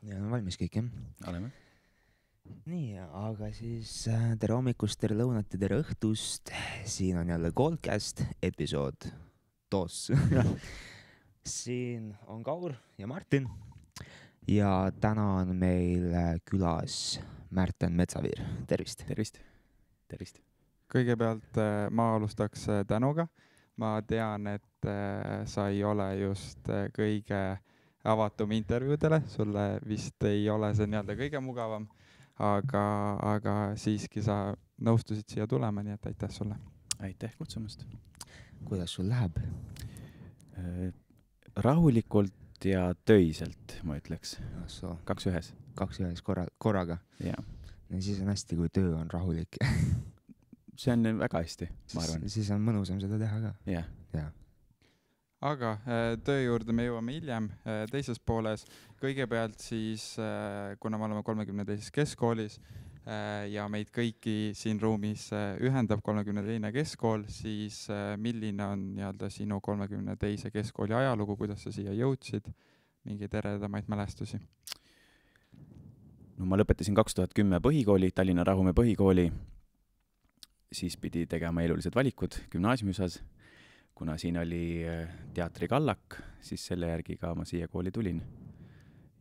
Ja on valmis kõik, jah? Oleme. Nii, aga siis tere hommikust, tere lõunat ja tere õhtust. Siin on jälle Goldcast episood 2. Siin on Kaur ja Martin. Ja täna on meil külas Märten Metsaviir. Tervist! Tervist. Kõigepealt ma alustaks tänuga. Ma tean, et sa ei ole just kõige avatum intervjuudele. Sulle vist ei ole see nii-öelda kõige mugavam, aga siiski sa nõustusid siia tulema, nii et aitäh sulle. Aitäh kutsumast. Kuidas sul läheb? Rahulikult ja töiselt, ma ütleks. So, 2 ühes. 2 ühes korraga. Ja. Ja siis on hästi, kui töö on rahulik. See on väga hästi, ma arvan. Siis on mõnusam seda teha ka. Ja. Aga töö juurde me jõuame hiljem teises pooles. Kõigepealt siis, kuna me oleme 32. keskkoolis ja meid kõiki siin ruumis ühendab 32. keskkool, siis milline on nii-öelda sinu 32. keskkooli ajalugu, kuidas sa siia jõudsid, mingeid eredamaid mälestusi? No ma lõpetasin 2010 põhikooli, Tallinna Rahumäe põhikooli. Siis pidi tegema elulised valikud gümnaasiumiosas. Kuna siin oli teatrikallak, siis selle järgi ka ma siia kooli tulin.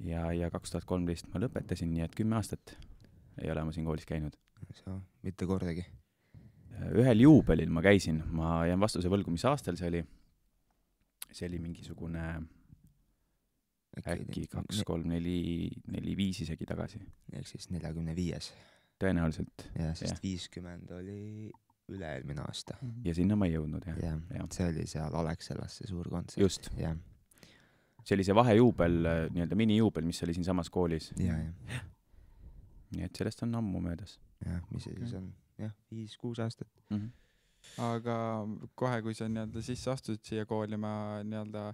Ja 2013 ma lõpetasin, nii et 10 aastat ei ole ma siin koolis käinud. Mitte kordagi. Ühel juubelil ma käisin. Ma jään vastuse võlgu, mis aastal see oli. See oli mingisugune äkki 2, 3, 4, 5 isegi tagasi. Ehk siis 45. Tõenäoliselt. Ja sest 50 oli üle-eelmine aasta. Ja sinna ma ei jõudnud, jah. Ja. See oli seal Alexelas see suur kontsert. Just. Ja. See oli see vahejuubel, nii-öelda minijuubel, mis oli siin samas koolis. Ja. Nii et sellest on ammu möödas. Ja, mis see siis on? Jah, 5-6 aastat. Aga kohe, kui sa nii-öelda sisse astusid siia kooli, ma nii-öelda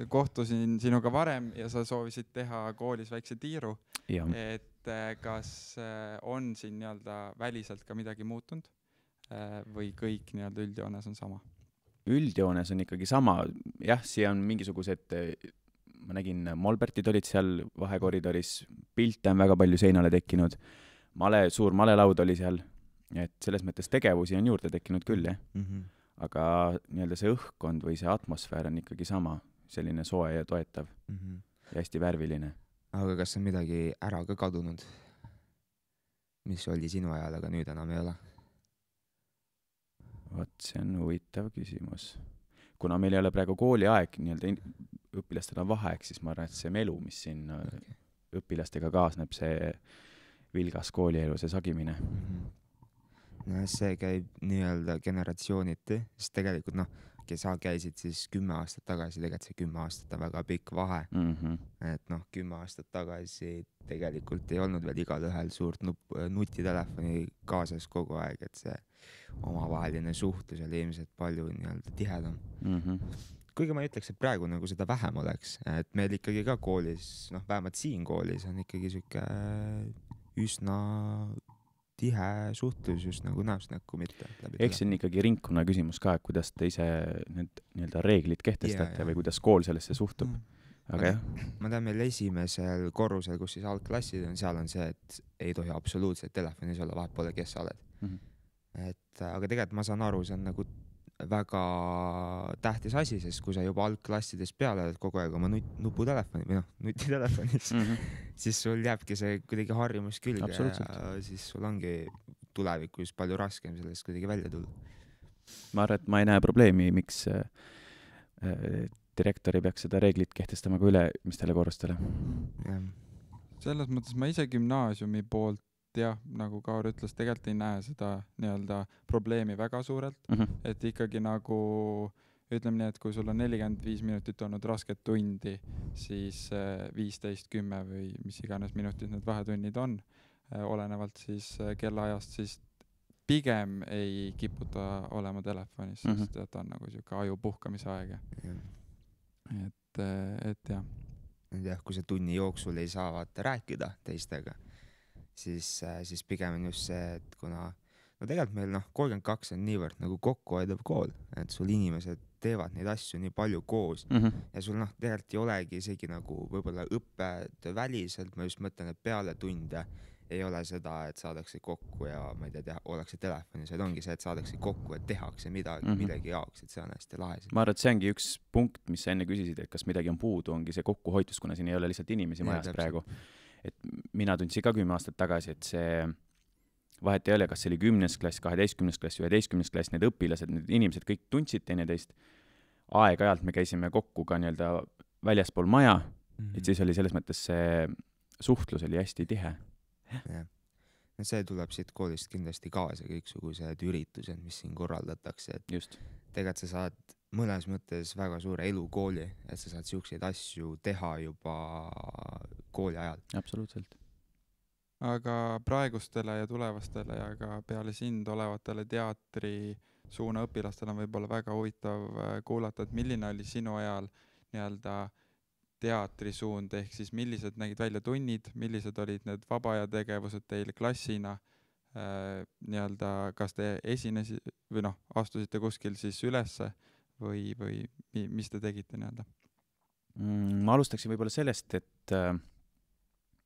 kohtusin sinuga varem ja sa soovisid teha koolis väikse tiiru. Ja. Et kas on siin nii-öelda väliselt ka midagi muutunud või kõik nii-öelda üldjoones on sama? Üldjoones on ikkagi sama. Jah, siia on mingisugused, ma nägin, molbertid olid seal vahekoridoris, pilte on väga palju seinale tekkinud, suur malelaud oli seal, et selles mõttes tegevusi on juurde tekkinud küll, jah. Aga nii-öelda see õhkkond või see atmosfäär on ikkagi sama, selline soe ja toetav ja hästi värviline. Aga kas on midagi ära ka kadunud, mis oli sinu ajal, aga nüüd enam ei ole? Vot, see on huvitav küsimus. Kuna meil ei ole praegu kooli aeg, nii-öelda õpilastel on vaheaeg, siis ma arvan, et see melu, mis siin õpilastega kaasneb, see vilgas koolielu, see sagimine. No, see käib nii-öelda generatsiooniti, sest tegelikult sa käisid siis 10 aastat tagasi, tegelikult see 10 aastat on väga pikk vahe. Et 10 aastat tagasi tegelikult ei olnud veel igal ühel suurt nutitelefoni kaasas kogu aeg, et see omavaheline suhtlus oli ilmselt palju nii-öelda tihedam. Kuigi ma ütleks, et praegu nagu seda vähem oleks, et meil ikkagi ka koolis, vähemalt siin koolis on ikkagi siuke üsna tihe suhtlus just nagu näost näkku mitte. Eks see on ikkagi ringkonna küsimus ka, et kuidas te ise need nii-öelda reeglid kehtestate või kuidas kool sellesse suhtub. Aga jah. Ma tean, meil esimesel korrusel, kus siis algklassid on, seal on see, et ei tohi absoluutselt telefonis olla, vahet pole, kes sa oled. Aga tegelikult ma saan aru, see on nagu väga tähtis asi, sest kui sa juba algklassides peale oled kogu aeg oma nutitelefonis, siis sul jääbki see kuidagi harjumus külge ja siis sul ongi tulevikus palju raskem sellest kuidagi välja tulla. Ma arvan, et ma ei näe probleemi, miks direktori peaks seda reeglit kehtestama ka ülemistele korrustele. Selles mõttes ma ise gümnaasiumi poolt jah, nagu Kaur ütles, tegelikult ei näe seda nii-öelda probleemi väga suurelt, et ikkagi nagu ütleme nii, et kui sul on 45 minutit olnud rasket tundi, siis 15-10 või mis iganes minutit need vahetunnid on, olenevalt siis kellaajast, siis pigem ei kiputa olema telefonis, sest ta on nagu siuke aju puhkamise aeg. Et jah. Jah, kui see tunni jooksul ei saa rääkida teistega, siis pigem on just see, et kuna no tegelikult meil 32 on niivõrd nagu kokkuhoidev kool, et sul inimesed teevad neid asju nii palju koos ja sul tegelikult ei olegi isegi nagu võib-olla õppetöö väliselt, ma just mõtlen, et peale tunde ei ole seda, et saadakse kokku ja ma ei tea, ollakse telefonis, vaid ongi see, et saadakse kokku, et tehakse midagi millegi jaoks, et see on hästi lahe. Ma arvan, et see ongi üks punkt, mis sa enne küsisid, et kas midagi on puudu, ongi see kokkuhoitus, kuna siin ei ole lihtsalt inimesi majas praegu. Et mina tundsin ka 10 aastat tagasi, et see vahet ei ole, kas see oli 10. klass, 12. klass, 11. klass, need õpilased, need inimesed kõik tundsid teineteist. Aeg-ajalt me käisime kokku ka nii-öelda väljaspool maja, et siis oli selles mõttes see suhtlus oli hästi tihe. Ja. No see tuleb siit koolist kindlasti kaasa, kõiksugused üritused, mis siin korraldatakse, et just. Tegelikult sa saad mõnes mõttes väga suure elukooli, et sa saad siukseid asju teha juba kooli ajal. Absoluutselt. Aga praegustele ja tulevastele ja ka peale sind olevatele teatri suuna õpilastel on võib-olla väga huvitav kuulata, et milline oli sinu ajal nii-öelda teatrisuund, ehk siis millised nägid välja tunnid, millised olid need vaba aja tegevused teil klassina, nii-öelda kas te esinesite või astusite kuskil siis ülesse või mis te tegite nii-öelda? Ma alustaksin võib-olla sellest, et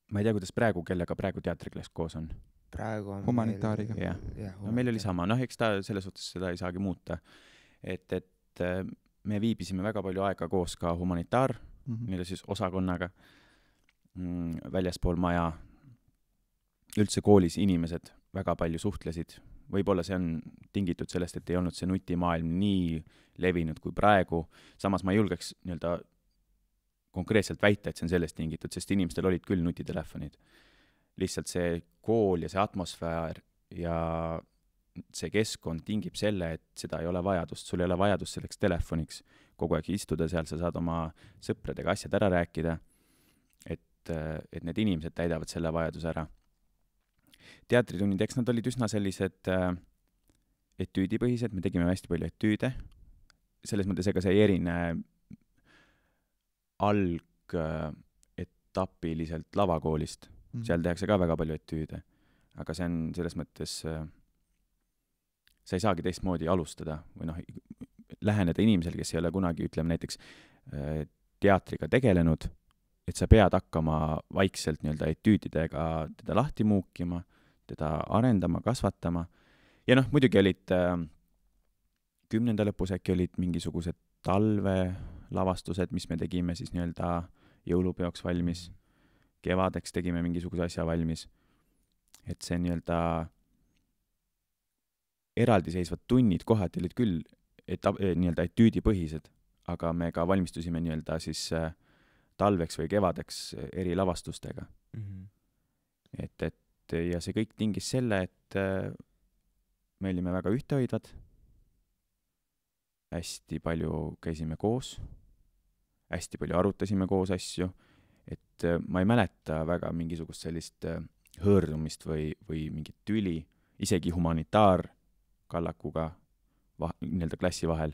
ma ei tea, kuidas praegu, kellega praegu teatriklass koos on. Praegu on humanitaariga. No meil oli sama, eks ta selles suhtes seda ei saagi muuta. Et me viibisime väga palju aega koos ka humanitaar, nii-öelda siis osakonnaga, väljaspool maja, üldse koolis inimesed väga palju suhtlesid. Võib-olla see on tingitud sellest, et ei olnud see nutimaailm nii levinud kui praegu. Samas ma ei julgeks nii-öelda konkreetselt väita, et see on sellest tingitud, sest inimestel olid küll nutitelefonid. Lihtsalt see kool ja see atmosfäär ja see keskkond tingib selle, et seda ei ole vajadust. Sul ei ole vajadust selleks telefoniks. Kogu aeg istuda seal, sa saad oma sõpradega asjad ära rääkida, et need inimesed täidavad selle vajaduse ära. Teatritunnid, eks nad olid üsna sellised etüüdipõhised, me tegime hästi palju etüüde. Selles mõttes ega see ei erine etapiliselt lavakoolist. Seal tehakse ka väga palju etüüde. Aga see on selles mõttes, sa ei saagi teistmoodi alustada või läheneda inimesel, kes ei ole kunagi, ütleme näiteks teatriga tegelenud, et sa pead hakkama vaikselt nii-öelda etüüdidega teda lahti muukima, teda arendama, kasvatama. Ja muidugi olid 10. lõpus äkki olid mingisugused talvelavastused, mis me tegime siis nii-öelda jõulupeoks valmis. Kevadeks tegime mingisuguse asja valmis. Et see nii-öelda eraldiseisvad tunnid kohati olid küll nii-öelda etüüdipõhised, aga me ka valmistusime nii-öelda siis talveks või kevadeks eri lavastustega. Et ja see kõik tingis selle, et me olime väga ühtehoidvad, hästi palju käisime koos, hästi palju arutasime koos asju, et ma ei mäleta väga mingisugust sellist hõõrdumist või mingit tüli, isegi humanitaarkallakuga nii-öelda klassi vahel,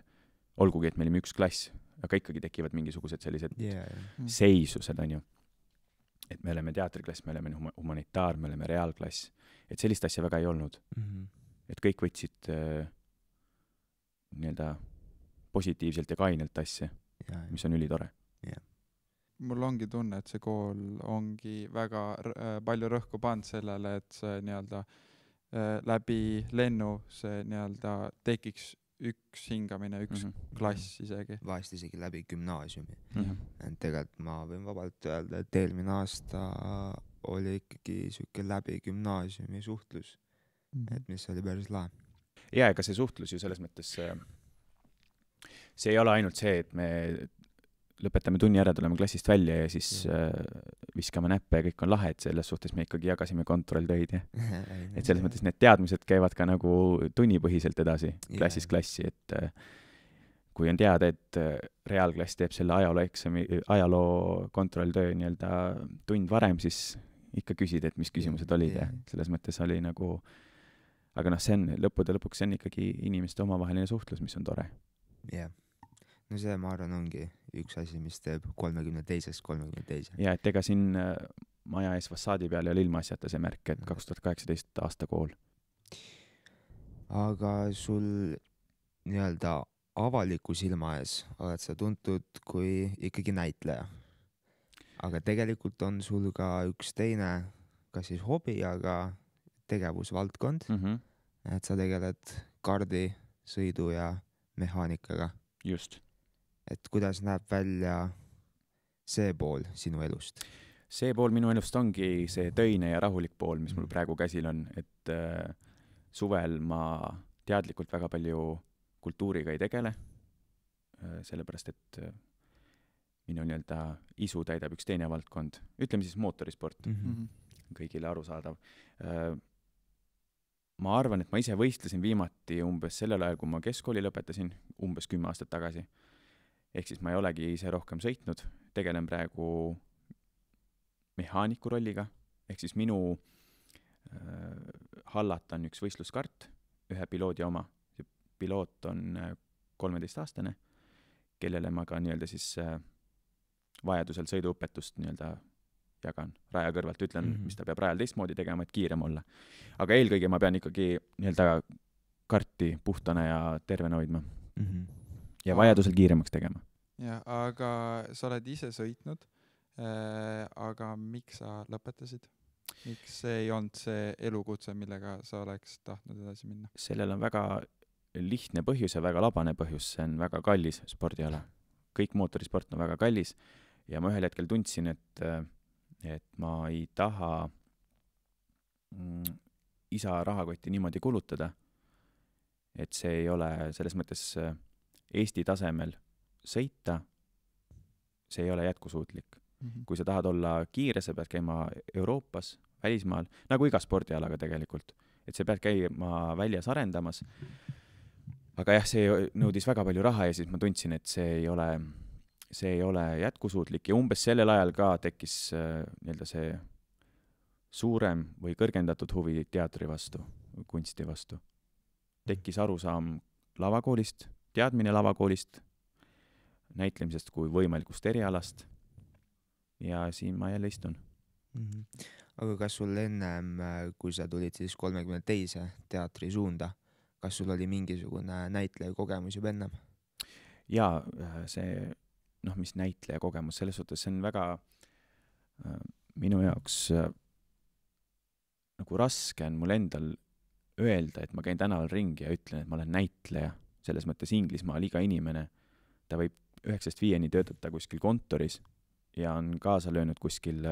olgugi, et me olime üks klass, aga ikkagi tekivad mingisugused sellised seisused, on ju. Et me oleme teatriklass, me oleme humanitaar, me oleme reaalklass. Et sellist asja väga ei olnud. Et kõik võtsid nii-öelda positiivselt ja kainelt asja, mis on ülitore. Mul ongi tunne, et see kool ongi väga palju rõhku pannud sellele, et see nii-öelda läbi lennu see nii-öelda tekiks üks hingamine, üks klass isegi. Vahest isegi läbi gümnaasiumi. Tegelikult ma võin vabalt öelda, et eelmine aasta oli ikkagi siuke läbi gümnaasiumi suhtlus, et mis oli päris lahe. Ja, ega see suhtlus ju selles mõttes, see ei ole ainult see, et me lõpetame tunni ära, tuleme klassist välja ja siis viskame näppe ja kõik on lahe, et selles suhtes me ikkagi jagasime kontrolltöid. Et selles mõttes need teadmised käivad ka nagu tunnipõhiselt edasi klassist klassi, et kui on teada, et reaalklass teeb selle ajaloo kontrolltöö nii-öelda tund varem, siis ikka küsid, et mis küsimused olid ja selles mõttes oli nagu, aga see on lõppude lõpuks, see on ikkagi inimeste omavaheline suhtlus, mis on tore. No see, ma arvan, ongi üks asi, mis teeb 32. Ja, et ega siin maja ees fassaadi peal ei ole ilmaasjata see märk, et 2018 aasta kool. aga sul nii-öelda avaliku silma ees oled sa tuntud kui ikkagi näitleja. Aga tegelikult on sul ka üks teine, kas siis hobi, aga tegevusvaldkond, et sa tegeled kardi, sõidu ja mehaanikaga. Just. Et kuidas näeb välja see pool sinu elust? See pool minu elust ongi see töine ja rahulik pool, mis mul praegu käsil on, et suvel ma teadlikult väga palju kultuuriga ei tegele, sellepärast et minu nii-öelda isu täidab üks teine valdkond, ütleme siis mootorisport, kõigile arusaadav. Ma arvan, et ma ise võistlesin viimati umbes sellel ajal, kui ma keskkooli lõpetasin, umbes 10 aastat tagasi. Ehk siis ma ei olegi ise rohkem sõitnud, tegelen praegu mehaaniku rolliga, ehk siis minu hallata on üks võistluskart, ühe piloodi oma. See piloot on 13-aastane, kellele ma ka nii-öelda siis vajadusel sõiduõpetust nii-öelda jagan raja kõrvalt, ütlen, mis ta peab rajal teistmoodi tegema, et kiirem olla. Aga eelkõige ma pean ikkagi nii-öelda karti puhtana ja tervena hoidma. Ja vajadusel kiiremaks tegema. Ja, aga sa oled ise sõitnud, aga miks sa lõpetasid? Miks see ei olnud see elukutse, millega sa oleks tahtnud edasi minna? Sellel on väga lihtne põhjus ja väga labane põhjus, see on väga kallis spordiala. Kõik mootorisport on väga kallis ja ma ühel hetkel tundsin, et ma ei taha isa rahakotti niimoodi kulutada, et see ei ole selles mõttes Eesti tasemel sõita, see ei ole jätkusuutlik. Kui sa tahad olla kiire, sa pead käima Euroopas, välismaal, nagu iga spordialaga tegelikult, et sa pead käima väljas arendamas. Aga jah, see nõudis väga palju raha ja siis ma tundsin, et see ei ole jätkusuutlik ja umbes sellel ajal ka tekkis nii-öelda see suurem või kõrgendatud huvi teatri vastu, kunsti vastu. Tekkis arusaam lavakoolist, teadmine lavakoolist, näitlemisest kui võimalikust erialast ja siin ma jälle istun. Aga kas sul ennem, kui sa tulid siis 32 teatri suunda, kas sul oli mingisugune näitleja kogemus juba ennem? Jaa, see, mis näitleja kogemus, selles suhtes see on väga minu jaoks nagu raske on mul endal öelda, et ma käin tänaval ringi ja ütlen, et ma olen näitleja. Selles mõttes Inglismaal iga inimene, ta võib 9-5 töötada kuskil kontoris ja on kaasa löönud kuskil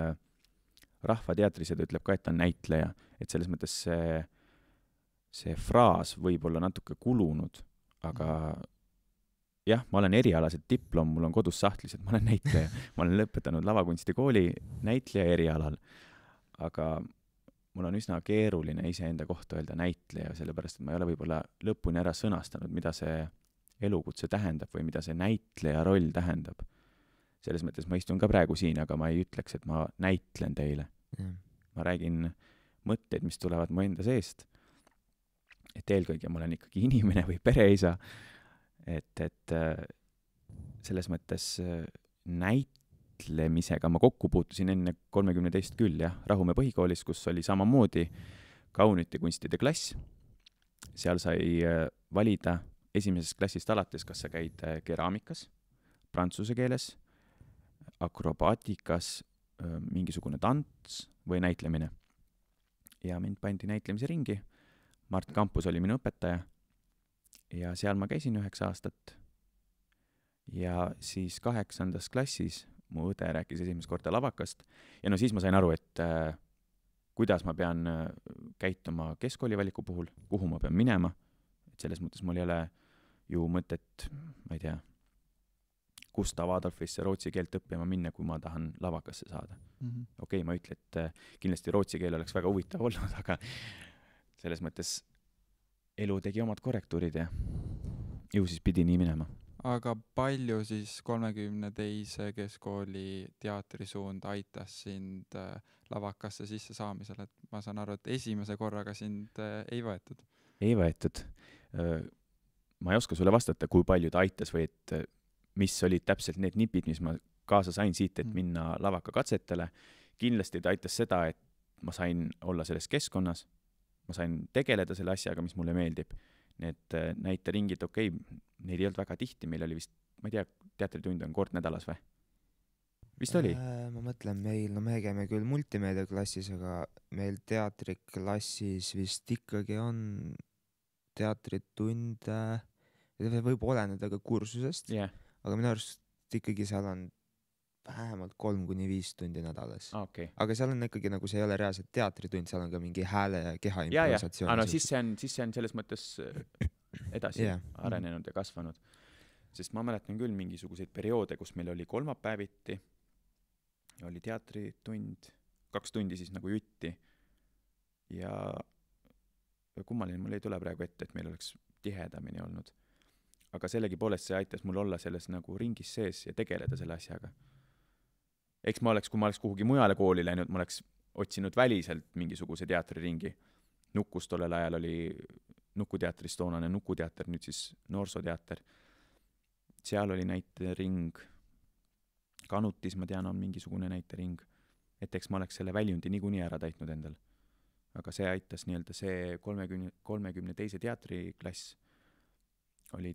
rahvateatris ja ta ütleb ka, et ta on näitleja. Et selles mõttes see fraas võib olla natuke kulunud, aga jah, ma olen erialaselt diplom, mul on kodus sahtlis, et ma olen näitleja. Ma olen lõpetanud lavakunstikooli näitleja erialal, aga mul on üsna keeruline iseenda kohta öelda näitleja, sellepärast, et ma ei ole võib-olla lõpuni ära sõnastanud, mida see elukutse tähendab või mida see näitleja roll tähendab. Selles mõttes ma istun ka praegu siin, aga ma ei ütleks, et ma näitlen teile. Ma räägin mõtteid, mis tulevad mu enda seest. Et eelkõige ma olen ikkagi inimene või pereisa. Et selles mõttes näitlemisega ma kokku puutusin enne 32 küll, jah, Rahumäe põhikoolis, kus oli samamoodi kaunite kunstide klass. Seal sai valida esimesest klassist alates, kas sa käid keraamikas, prantsuse keeles, akrobaatikas, mingisugune tants või näitlemine. Ja mind pandi näitlemise ringi. Mart Kampus oli minu õpetaja ja seal ma käisin 9 aastat. Ja siis 8. klassis mu õde rääkis esimest korda lavakast ja siis ma sain aru, et kuidas ma pean käituma keskkoolivaliku puhul, kuhu ma pean minema. Et selles mõttes mul ei ole ju mõtet, ma ei tea, Gustav Adolfisse rootsi keelt õppima minna, kui ma tahan lavakasse saada. Okei, ma ütlen, et kindlasti rootsi keel oleks väga huvitav olnud, aga selles mõttes elu tegi omad korrektuurid ja ju siis pidi nii minema. Aga palju siis 32 keskkooli teatrisuund aitas sind lavakasse sisse saamisel, et ma saan aru, et esimese korraga sind ei võetud? Ei võetud. Ma ei oska sulle vastata, kui palju ta aitas või et mis olid täpselt need nipid, mis ma kaasa sain siit, et minna lavaka katsetele. Kindlasti ta aitas seda, et ma sain olla selles keskkonnas. ma sain tegeleda selle asjaga, mis mulle meeldib. Need näiteringid, okei, neid ei olnud väga tihti, meil oli vist, ma ei tea, teatritund on kord nädalas või? Vist oli? Ma mõtlen meil, no me käime küll multimeediaklassis, aga meil teatriklassis vist ikkagi on teatritund, võib oleneda ka kursusest, aga minu arust ikkagi seal on vähemalt 3-5 tundi nädalas. Okay. Aga seal on ikkagi nagu see ei ole reaalselt teatritund, seal on ka mingi hääle ja keha improvisatsioon. No siis see on selles mõttes edasi arenenud ja kasvanud. Sest ma mäletan küll mingisuguseid perioode, kus meil oli kolmapäeviti, oli teatritund, 2 tundi siis nagu jutti ja kummaline mul ei tule praegu ette, et meil oleks tihedamini olnud. Aga sellegipoolest see aitas mul olla selles nagu ringis sees ja tegeleda selle asjaga. Eks kui ma oleks kuhugi mujale kooli läinud, ma oleks otsinud väliselt mingisuguse teatriringi. Nukus tollel ajal oli Nukuteatris toonane Nukuteater, nüüd siis Noorsooteater. Seal oli näitering. Kanutis, ma tean, on mingisugune näitering. Et eks ma oleks selle väljundi niikuinii ära täitnud endal. Aga see aitas nii-öelda see 32. teatriklass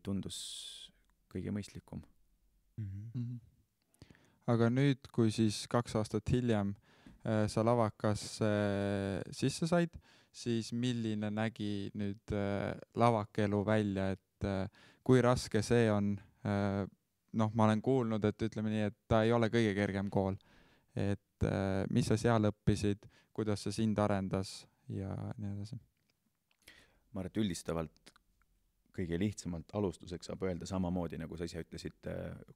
tundus kõige mõistlikum. Mm-hmm. Aga nüüd, kui siis 2 aastat hiljem sa lavakasse sisse said, siis milline nägi nüüd lavakelu välja, et kui raske see on? Ma olen kuulnud, et ütleme nii, et ta ei ole kõige kergem kool. Et mis sa seal õppisid, kuidas see sind arendas ja nii edasi? Ma arvan, et üldistavalt kõige lihtsamalt alustuseks saab öelda samamoodi, nagu sa ise ütlesid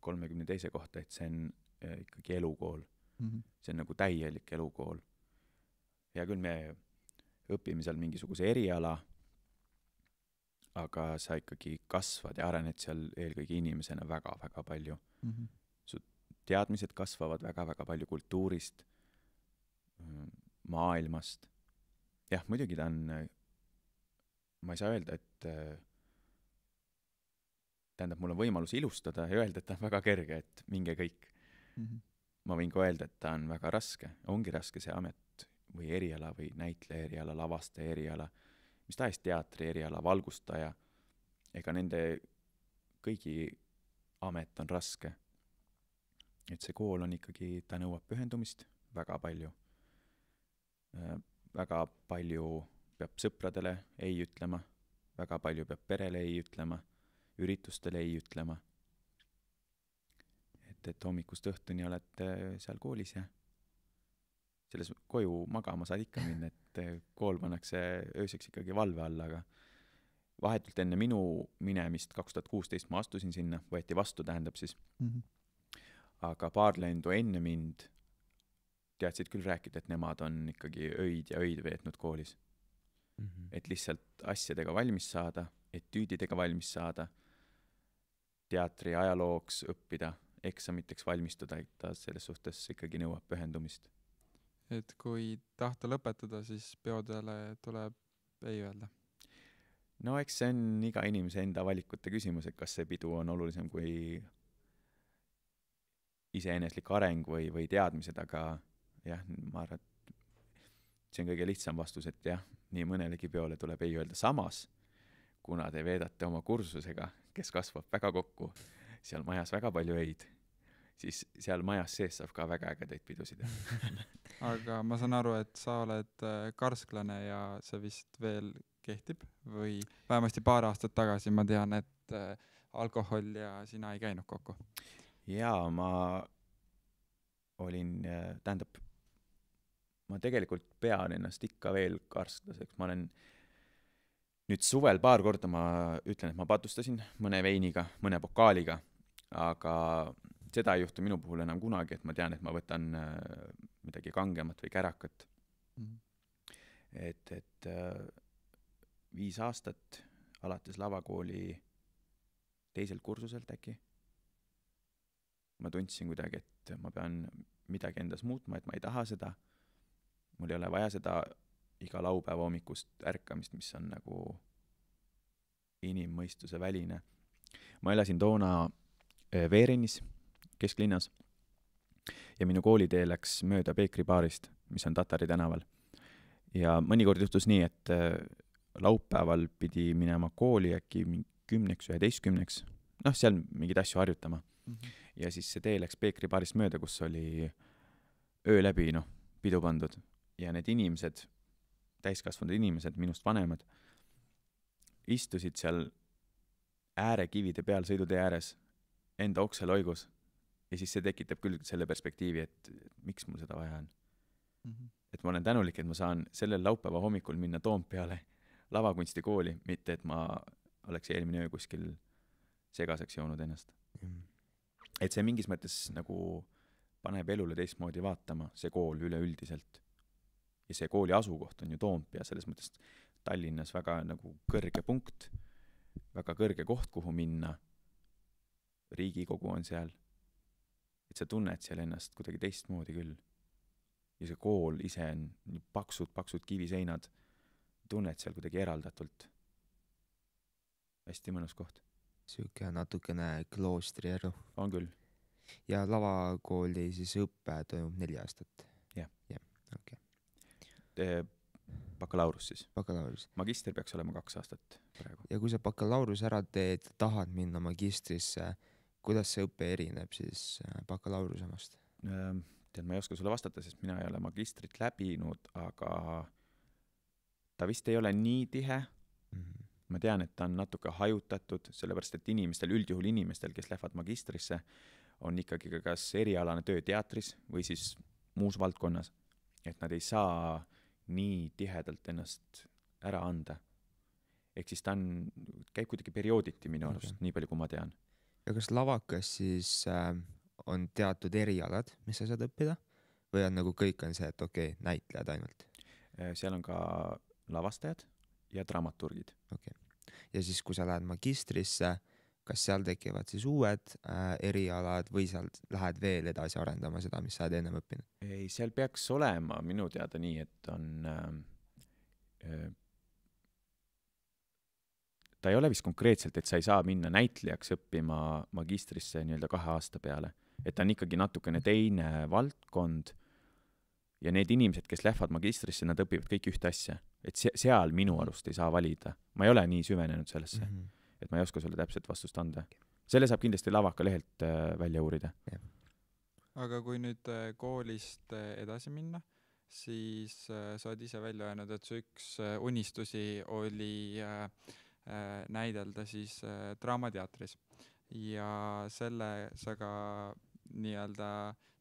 32. kohta, et see on ikkagi elukool. Mm-hmm. See on nagu täielik elukool. Ja küll me õpime seal mingisuguse eriala, aga sa ikkagi kasvad ja arened seal eelkõige inimesena väga-väga palju. Mm-hmm. Su teadmised kasvavad väga-väga palju kultuurist, maailmast. Jah, muidugi ta on, ma ei saa öelda, et tähendab, mul on võimalus ilustada ja öelda, et ta on väga kerge, et minge kõik. Mm-hmm. Ma võin ka öelda, et ta on väga raske. Ongi raske see amet või eriala või näitleja eriala, lavastaja eriala, mis tahes teatri eriala, valgustaja. Ega nende kõigi amet on raske. Et see kool on ikkagi, ta nõuab pühendumist väga palju. Väga palju peab sõpradele ei ütlema, väga palju peab perele ei ütlema, üritustele ei ütlema. Et hommikust õhtuni oled seal koolis ja selles koju magama saad ikka minna, et kool pannakse ööseks ikkagi valve alla, aga vahetult enne minu minemist 2016 ma astusin sinna, võeti vastu, tähendab siis. Mm-hmm. Aga paar lendu enne mind teadsid küll rääkida, et nemad on ikkagi öid ja öid veetnud koolis. Mm-hmm. Et lihtsalt asjadega valmis saada, etüüdidega valmis saada, teatri ajalooks õppida, eksamiteks valmistuda, et ta selles suhtes ikkagi nõuab pühendumist. Et kui tahta lõpetada, siis peodele tuleb ei öelda? No eks see on iga inimese enda valikute küsimus, et kas see pidu on olulisem kui iseeneslik areng või teadmised, aga jah, ma arvan, et see on kõige lihtsam vastus, et jah, nii mõnelegi peole tuleb ei öelda. Samas, kuna te veedate oma kursusega, kes kasvab väga kokku, seal majas väga palju öid, siis seal majas sees saab ka väga ägedaid pidusid. Aga ma saan aru, et sa oled karsklane ja see vist veel kehtib või vähemasti paar aastat tagasi ma tean, et alkohol ja sina ei käinud kokku. Jaa, ma olin, tähendab, ma tegelikult pean ennast ikka veel karsklaseks. Ma olen nüüd suvel paar korda ma ütlen, et ma patustasin mõne veiniga, mõne pokaaliga, aga seda ei juhtu minu puhul enam kunagi, et ma tean, et ma võtan midagi kangemat või kärakat. Mm-hmm. Et 5 aastat alates lavakooli 2. kursuselt äkki. Ma tundsin kuidagi, et ma pean midagi endas muutma, et ma ei taha seda. Mul ei ole vaja seda iga laupäeva hommikust ärkamist, mis on nagu inimmõistuse väline. Ma elasin toona Veerinis, kesklinnas, ja minu koolitee läks mööda Peekri baarist, mis on Tatari tänaval. ja mõnikord juhtus nii, et laupäeval pidi minema kooli äkki 10-11, seal mingeid asju harjutama. Ja siis see tee läks Peekri baarist mööda, kus oli öö läbi, pidu pandud. Ja need inimesed, täiskasvanud inimesed, minust vanemad, istusid seal äärekivide peal sõidutee ääres enda okseloigus. Ja siis see tekitab küll selle perspektiivi, et miks mul seda vaja on. Et ma olen tänulik, et ma saan sellel laupäeva hommikul minna Toompeale lavakunstikooli, mitte et ma oleks eelmine öö kuskil segaseks joonud ennast. Et see mingis mõttes nagu paneb elule teistmoodi vaatama, see kool üleüldiselt. Ja see kooli asukoht on ju Toompea, selles mõttes Tallinnas väga nagu kõrge punkt, väga kõrge koht, kuhu minna. Riigikogu on seal. Et sa tunned seal ennast kuidagi teistmoodi küll. Ja see kool ise on nii paksud kiviseinad. Tunned seal kuidagi eraldatult. Hästi mõnus koht. Siuke natukene kloostri elu. On küll. Ja lavakooli siis õppe toimub 4 aastat? Jah. Okay. Bakalaurus siis. Bakalaurus. Magister peaks olema 2 aastat praegu. Ja kui sa bakalaurus ära teed, tahad minna magistrisse, kuidas see õppe erineb siis bakalaurusemast? Ma ei oska sulle vastata, sest mina ei ole magistrit läbinud, aga ta vist ei ole nii tihe. Ma tean, et ta on natuke hajutatud, sellepärast et üldjuhul inimestel, kes lähevad magistrisse, on ikkagi kas erialane töö teatris või siis muus valdkonnas. Et nad ei saa nii tihedalt ennast ära anda. Ehk siis ta käib kuidagi periooditi minu arust, nii palju kui ma tean. Ja kas lavakas siis on teatud erialad, mis sa saad õppida? Või on nagu kõik on see, et näitlejad ainult? Seal on ka lavastajad ja dramaturgid. Ja siis, kui sa lähed magistrisse, kas seal tekivad siis uued erialad või seal lähed veel edasi arendama seda, mis sa oled enne õppinud? Ei, seal peaks olema minu teada nii, et on ta ei ole vist konkreetselt, et sa ei saa minna näitlejaks õppima magistrisse 2 aasta peale. Et ta on ikkagi natukene teine valdkond ja need inimesed, kes lähevad magistrisse, nad õpivad kõik ühte asja. Et seal minu arust ei saa valida. Ma ei ole nii süvenenud sellesse, et ma ei oska sulle täpselt vastust anda. Selle saab kindlasti lavaka lehelt välja uurida. Aga kui nüüd koolist edasi minna, siis sa oled ise välja öelnud, et su üks unistusi oli näidelda siis draamateatris. Ja selle sa ka nii-öelda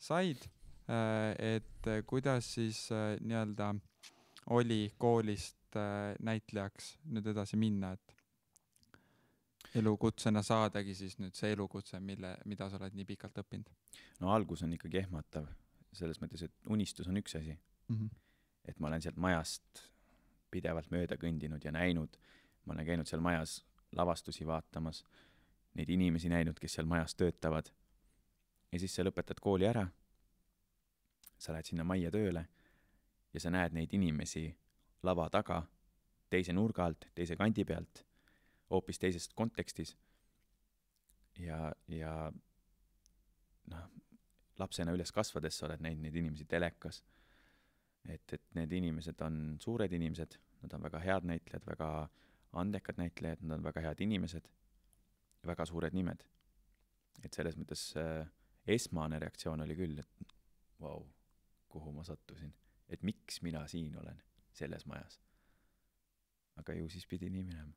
said, et kuidas siis nii-öelda oli koolist näitlejaks nüüd edasi minna, et elukutsena saadagi siis nüüd see elukutse, mida sa oled nii pikalt õppinud? No algus on ikkagi ehmatav, selles mõttes, et unistus on üks asi. Et ma olen sealt majast pidevalt mööda kõndinud ja näinud, ma olen käinud seal majas lavastusi vaatamas, neid inimesi näinud, kes seal majas töötavad. Ja siis sa lõpetad kooli ära, sa lähed sinna majja tööle ja sa näed neid inimesi lava taga, teise nurga alt, teise kandi pealt, hoopis teisest kontekstis. Ja lapsena üles kasvades sa oled näinud neid inimesi telekas. Et need inimesed on suured inimesed, nad on väga head näitlejad, väga andekad näitlejad, nad on väga head inimesed, väga suured nimed. Et selles mõttes esmane reaktsioon oli küll, et vau, kuhu ma sattusin. Et miks mina siin olen selles majas. Aga ju siis pidi nii minema.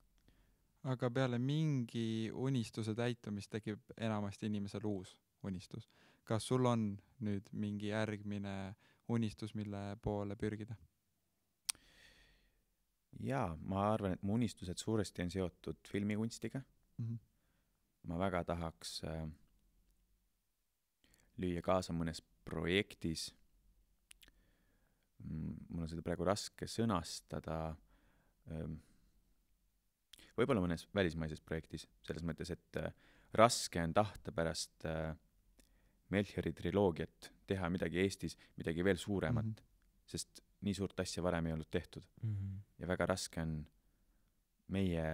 Aga peale mingi unistuse täitumist tekib enamasti inimesel uus unistus. Kas sul on nüüd mingi järgmine unistus, mille poole pürgida? Jaa, ma arvan, et mu unistused suuresti on seotud filmikunstiga. Ma väga tahaks lüüa kaasa mõnes projektis. Mul on seda praegu raske sõnastada. Võib-olla mõnes välismaises projektis, selles mõttes, et raske on tahta pärast Melchiori triloogiat teha midagi Eestis, midagi veel suuremat, sest nii suurt asja varem ei olnud tehtud. Ja väga raske on meie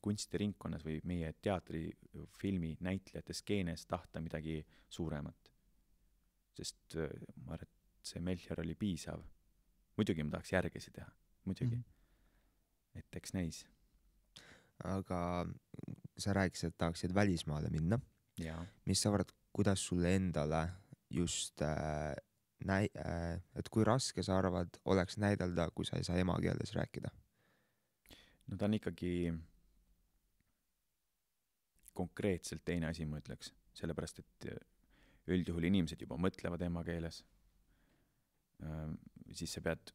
kunstiringkonnas või meie teatrifilmi näitlejate skeenes tahta midagi suuremat. Sest ma arvan, et see Melchior oli piisav. muidugi ma tahaks järgesi teha, muidugi. Et eks näis. Aga sa rääkisid, et tahaksid välismaale minna. Mis sa arvad, kuidas sulle endale just et kui raske sa arvad oleks näidelda, kui sa ei saa emakeeles rääkida? No ta on ikkagi konkreetselt teine asi, ma ütleks. Sellepärast, et üldjuhul inimesed juba mõtlevad emakeeles. Siis sa pead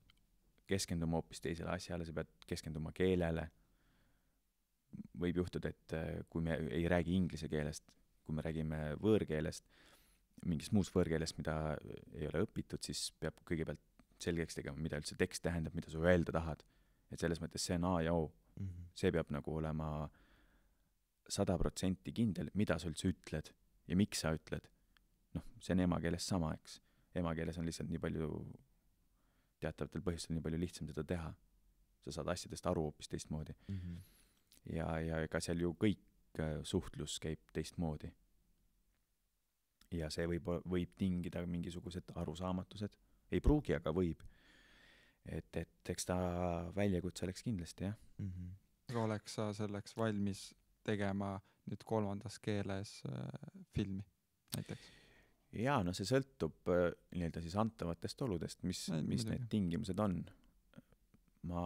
keskenduma hoopis teisele asjale, sa pead keskenduma keelele. Võib juhtuda, et kui me ei räägi inglise keelest, kui me räägime võõrkeelest, mingist muust võõrkeelest, mida ei ole õpitud, siis peab kõigepealt selgeks tegema, mida üldse tekst tähendab, mida sa öelda tahad. Et selles mõttes see on A ja O. See peab nagu olema 100% kindel, mida sa üldse ütled ja miks sa ütled. Noh, see on emakeeles sama, eks. Emakeeles on lihtsalt nii palju, teatavatel põhjustel nii palju lihtsam seda teha. Sa saad asjadest aru hoopis teistmoodi. Ja ega seal ju kõik suhtlus käib teistmoodi. Ja see võib tingida mingisugused arusaamatused. Ei pruugi, aga võib. Et eks ta väljakutse oleks kindlasti, jah. Aga oleks sa selleks valmis tegema nüüd 3. keeles filmi näiteks? Jaa, no see sõltub nii-öelda siis antavatest oludest, mis need tingimused on. Ma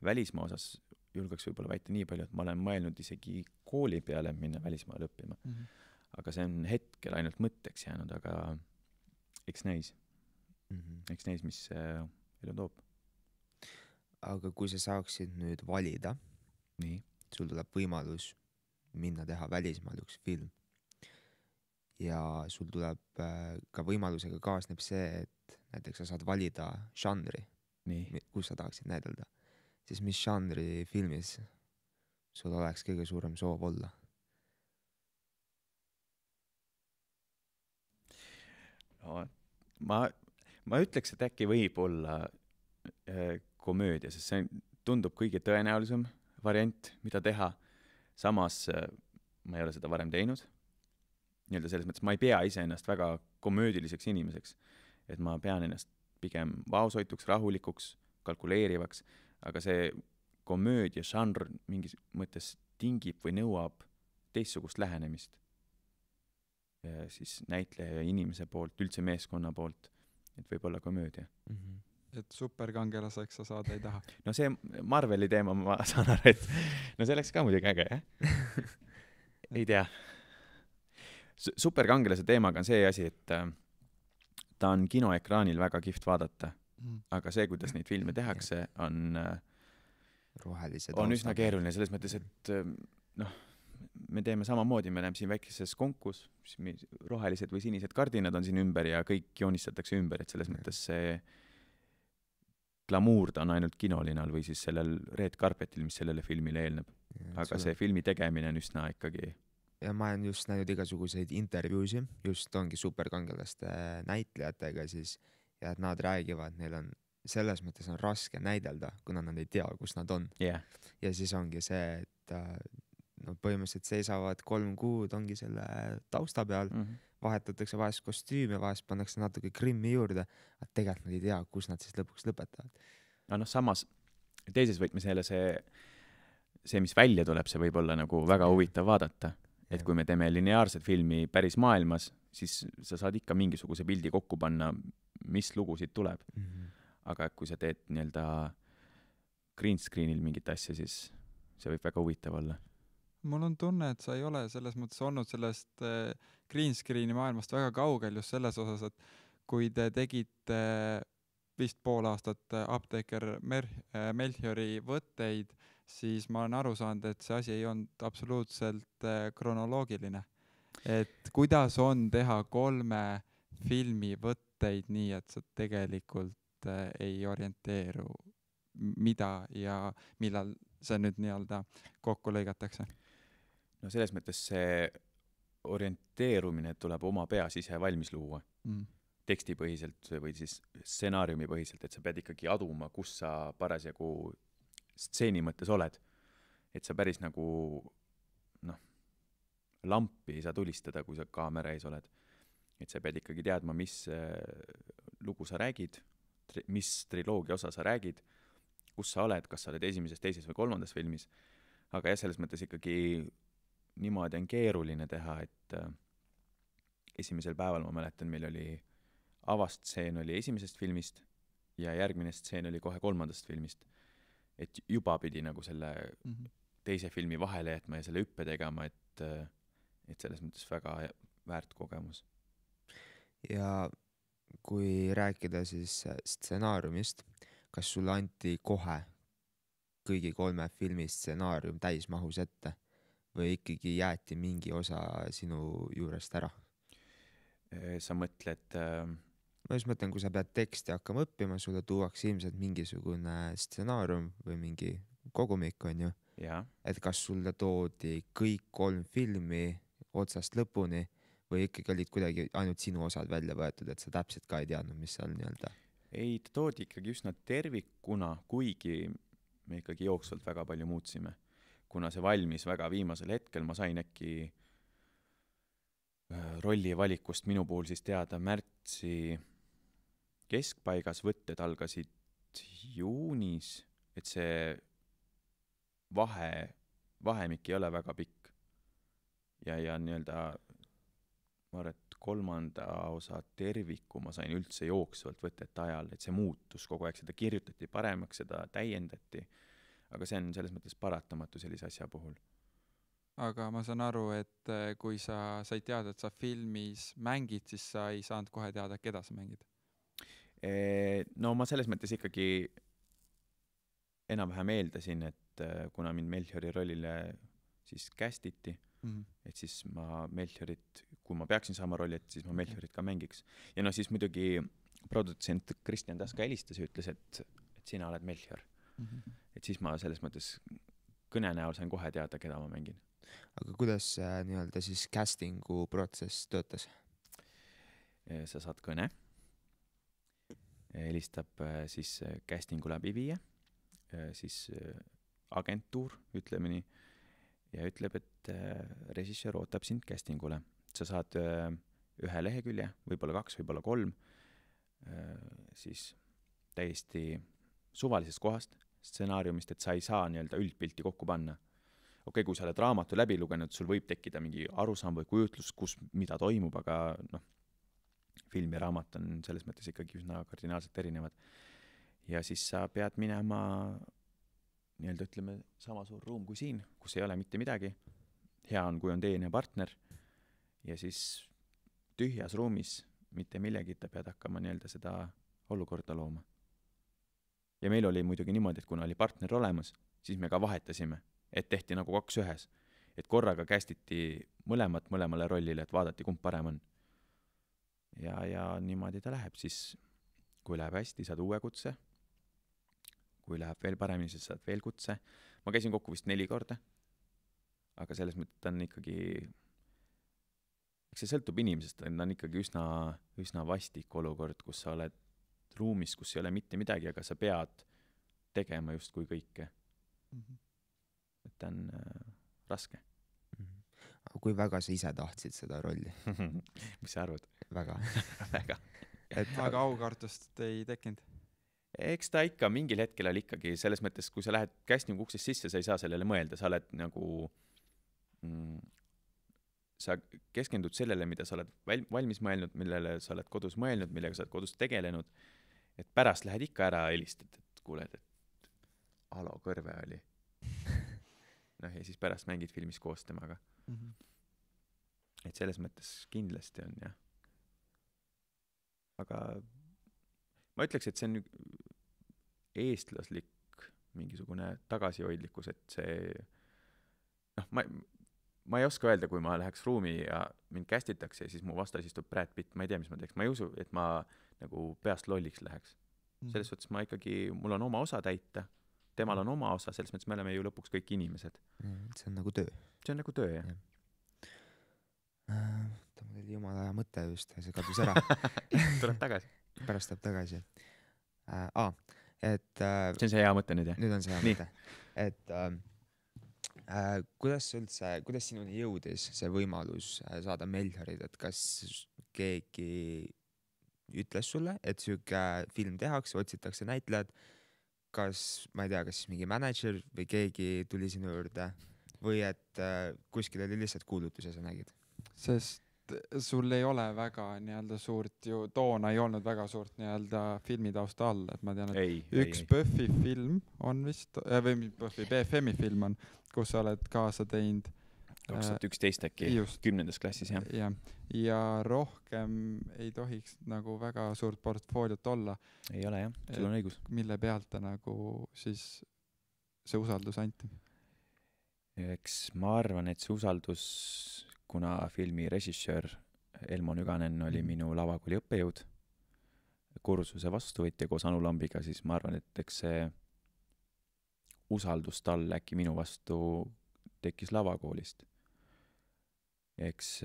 välismaa osas julgeks võib-olla väita nii palju, et ma olen mõelnud isegi kooli peale minna välismaale õppima. Aga see on hetkel ainult mõtteks jäänud, aga eks näis. Eks näis, mis elu toob. Aga kui sa saaksid nüüd valida, nii. Sul tuleb võimalus minna teha välismaal üks film ja sul tuleb ka võimalusega kaasneb see, et näiteks sa saad valida žanri, kus sa tahaksid näidelda, siis mis žanri filmis sul oleks kõige suurem soov olla? No, ma ütleks, et äkki võib olla komöödia, sest see tundub kõige tõenäolisem variant, mida teha. Samas ma ei ole seda varem teinud. Nii-öelda selles mõttes ma ei pea iseennast väga komöödiliseks inimeseks. Et ma pean ennast pigem vaoshoituks, rahulikuks, kalkuleerivaks, aga see komöödia žanr mingis mõttes tingib või nõuab teistsugust lähenemist. Ja siis näitleja ja inimese poolt, üldse meeskonna poolt, et võib olla komöödia. Et superkangelaseks sa saada ei taha? No see Marveli teema ma saan aru, et no see oleks ka muidugi äge, jah? Ei tea. Superkangelase teemaga on see asi, et ta on kinoekraanil väga kihvt vaadata, aga see, kuidas neid filme tehakse, on üsna keeruline selles mõttes, et me teeme samamoodi, me oleme siin väikeses konkus, rohelised või sinised kardinad on siin ümber ja kõik joonistatakse ümber, et selles mõttes see glamuur ta on ainult kinolinal või siis sellel red carpetil, mis sellele filmile eelneb. Aga see filmi tegemine on üsna ikkagi. Ja ma olen just näinud igasuguseid intervjuusi, just ongi superkangelaste näitlejatega siis, ja et nad räägivad, neil on selles mõttes on raske näidelda, kuna nad ei tea, kus nad on. Yeah. Ja siis ongi see, et põhimõtteliselt seisavad 3 kuud, ongi selle tausta peal, vahetatakse vahest kostüümi, vahest pannakse natuke grimmi juurde, et tegelikult nad ei tea, kus nad siis lõpuks lõpetavad. No samas teises võtmes jälle see, mis välja tuleb, see võib olla nagu väga huvitav vaadata. Et kui me teeme lineaarset filmi päris maailmas, siis sa saad ikka mingisuguse pildi kokku panna, mis lugusid tuleb. Aga kui sa teed nii-öelda green screenil mingit asja, siis see võib väga huvitav olla. Mul on tunne, et sa ei ole selles mõttes olnud sellest green screeni maailmast väga kaugel just selles osas, et kui te tegite vist pool aastat apteeker Melchiori võtteid, siis ma olen aru saanud, et see asi ei olnud absoluutselt kronoloogiline. Et kuidas on teha 3 filmi võtteid nii, et sa tegelikult ei orienteeru, mida ja millal see nüüd nii-öelda kokku lõigatakse? No selles mõttes see orienteerumine tuleb oma peas ise valmis luua. Tekstipõhiselt või siis stsenaariumi põhiselt, et sa pead ikkagi aduma, kus sa parasjagu stseeni mõttes oled. Et sa päris nagu lampi ei saa tulistada, kui sa kaamera ees oled. Et sa pead ikkagi teadma, mis lugu sa räägid, mis triloogia osa sa räägid, kus sa oled, kas sa oled esimeses, teises või kolmandas filmis, aga jah, selles mõttes ikkagi niimoodi on keeruline teha, et esimesel päeval ma mäletan, meil oli avastseen oli esimesest filmist ja järgmine stseen oli kohe kolmandast filmist. Et juba pidi nagu selle teise filmi vahele jätma ja selle hüppe tegema, et selles mõttes väga väärt kogemus. Ja kui rääkida siis stsenaariumist, kas sulle anti kohe kõigi 3 filmi stsenaarium täismahus ette või ikkagi jäeti mingi osa sinu juurest ära? Sa mõtled... Ma just mõtlen, kui sa pead teksti hakkama õppima, sulle tuuakse ilmselt mingisugune stsenaarium või mingi kogumik, on ju. Ja. Et kas sulle toodi kõik 3 filmi otsast lõpuni või ikkagi olid kuidagi ainult sinu osad välja võetud, et sa täpselt ka ei teadnud, mis seal nii-öelda? Ei, ta toodi ikkagi üsna tervikuna, kuigi me ikkagi jooksvalt väga palju muutsime. Kuna see valmis väga viimasel hetkel, ma sain äkki rolli valikust minu puhul siis teada märtsi keskpaigas, võtted algasid juunis, et see vahemik ei ole väga pikk. Ja nii-öelda ma arvan, et 3. osa terviku ma sain üldse jooksvalt võtete ajal, et see muutus kogu aeg, seda kirjutati paremaks, seda täiendati, aga see on selles mõttes paratamatu sellise asja puhul. Aga ma saan aru, et kui sa said teada, et sa filmis mängid, siis sa ei saanud kohe teada, keda sa mängid? No ma selles mõttes ikkagi enam-vähem eeldasin, et kuna mind Melchiori rollile siis kästiti, et siis ma Melchiorit, kui ma peaksin saama rolli, et siis ma Melchiorit ka mängiks. Ja no siis muidugi produtsent Kristjan Taska helistas ja ütles, et sina oled Melchior. Et siis ma selles mõttes kõne näol sain kohe teada, keda ma mängin. Aga kuidas nii-öelda siis castingu protsess töötas? Sa saad kõne, helistab siis castingu läbi viia, siis agentuur, ütleme nii, ja ütleb, et režissöör ootab sind castingule. Sa saad 1 lehekülje, võib-olla 2, võib-olla 3, siis täiesti suvalisest kohast, stsenaariumist, et sa ei saa nii-öelda üldpilti kokku panna. Okei, kui sa oled raamatu läbi lugenud, sul võib tekkida mingi arusaam või kujutlus, mida toimub, aga film ja raamat on selles mõttes ikkagi üsna kardinaalselt erinevad. Ja siis sa pead minema nii-öelda ütleme sama suur ruum kui siin, kus ei ole mitte midagi. Hea on, kui on teine partner ja siis tühjas ruumis mitte millegita pead hakkama nii-öelda seda olukorda looma. Ja meil oli muidugi niimoodi, et kuna oli partner olemas, siis me ka vahetasime, et tehti nagu 2 ühes. Et korraga kästiti mõlemale rollile, et vaadati, kumb parem on. Ja niimoodi ta läheb. Siis kui läheb hästi, saad uue kutse. Kui läheb veel paremini, siis saad veel kutse. Ma käisin kokku vist 4 korda. Aga selles mõttes on ikkagi... See sõltub inimesest, ta on ikkagi üsna vastik olukord, kus sa oled ruumis, kus ei ole mitte midagi, aga sa pead tegema just kui kõike. Et ta on raske. Aga kui väga sa ise tahtsid seda rolli? Mis sa arvad? Väga. Väga. Aga aukartust ei tekkinud? Eks ta ikka mingil hetkel oli ikkagi selles mõttes, kui sa lähed castingu uksest sisse, sa ei saa sellele mõelda, sa oled nagu sa keskendud sellele, mida sa oled valmis mõelnud, millele sa oled kodus mõelnud, millega sa oled kodus tegelenud, et pärast lähed ikka ära helistad, et kuuled, et halo, kõrve oli. Ja siis pärast mängid filmis koos temaga. Et selles mõttes kindlasti on, jah. Aga ma ütleks, et see on eestlaslik mingisugune tagasihoidlikkus, et see ma ei oska öelda, kui ma läheks ruumi ja mind kästitakse ja siis mu vastas istub Brad Pitt, ma ei tea, mis ma teeks. Ma ei usu, et ma nagu peast lolliks läheks. Selles suhtes ma ikkagi, mul on oma osa täita, temal on oma osa, selles mõttes me oleme ju lõpuks kõik inimesed. See on nagu töö. See on nagu töö, jah. Ta mul oli jumala hea mõte just, see kadus ära. Tuleb tagasi. Pärast tuleb tagasi. Et... See on see hea mõte nüüd, jah? Nüüd on see hea mõte. Et... kuidas sinuni jõudis see võimalus saada Melchiorid, et kas keegi ütles sulle, et siuke film tehakse, otsitakse näitlejad, kas, ma ei tea, kas mingi mänedžer või keegi tuli sinu juurde või et kuskil oli lihtsalt kuulutus ja sa nägid? Sest sul ei ole väga nii-öelda suurt ju, toona ei olnud väga suurt nii-öelda filmitausta all, et ma tean, et üks Buffy film on vist, või Buffy, BFM-i film on, kus sa oled kaasa teinud 2011 äkki, 10. klassis, jah. Ja rohkem ei tohiks nagu väga suurt portfooliot olla. Ei ole, jah, sul on õigus. Mille pealt ta nagu siis see usaldus anti? Eks ma arvan, et see usaldus, kuna filmi režissöör Elmo Nüganen oli minu lavakooli õppejõud, kursuse vastuvõtja koos Anu Lambiga, siis ma arvan, et eks see usaldus tal äkki minu vastu tekkis lavakoolist. Eks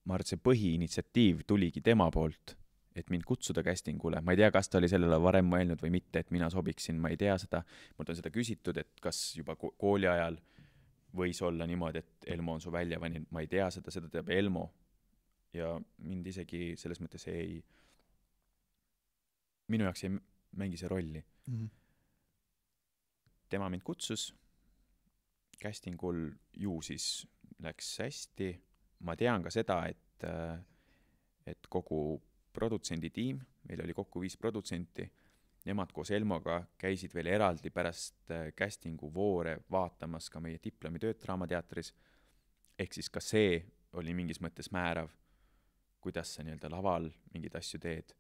ma arvan, et see põhiinitsiatiiv tuligi tema poolt, et mind kutsuda castingule. Ma ei tea, kas ta oli sellele varem mõelnud või mitte, et mina sobiksin, ma ei tea seda. Mult on seda küsitud, et kas juba kooli ajal võis olla niimoodi, et Elmo on su välja valinud. Ma ei tea seda teab Elmo. Ja mind isegi selles mõttes minu jaoks ei mängi see rolli. Tema mind kutsus. Castingul ju siis läks hästi. Ma tean ka seda, et kogu produtsendi tiim, meil oli kokku 5 produtsenti, nemad koos Elmoga käisid veel eraldi pärast castingu voore vaatamas ka meie diplomitööd Draamateatris. Ehk siis ka see oli mingis mõttes määrav, kuidas sa nii-öelda laval mingid asju teed.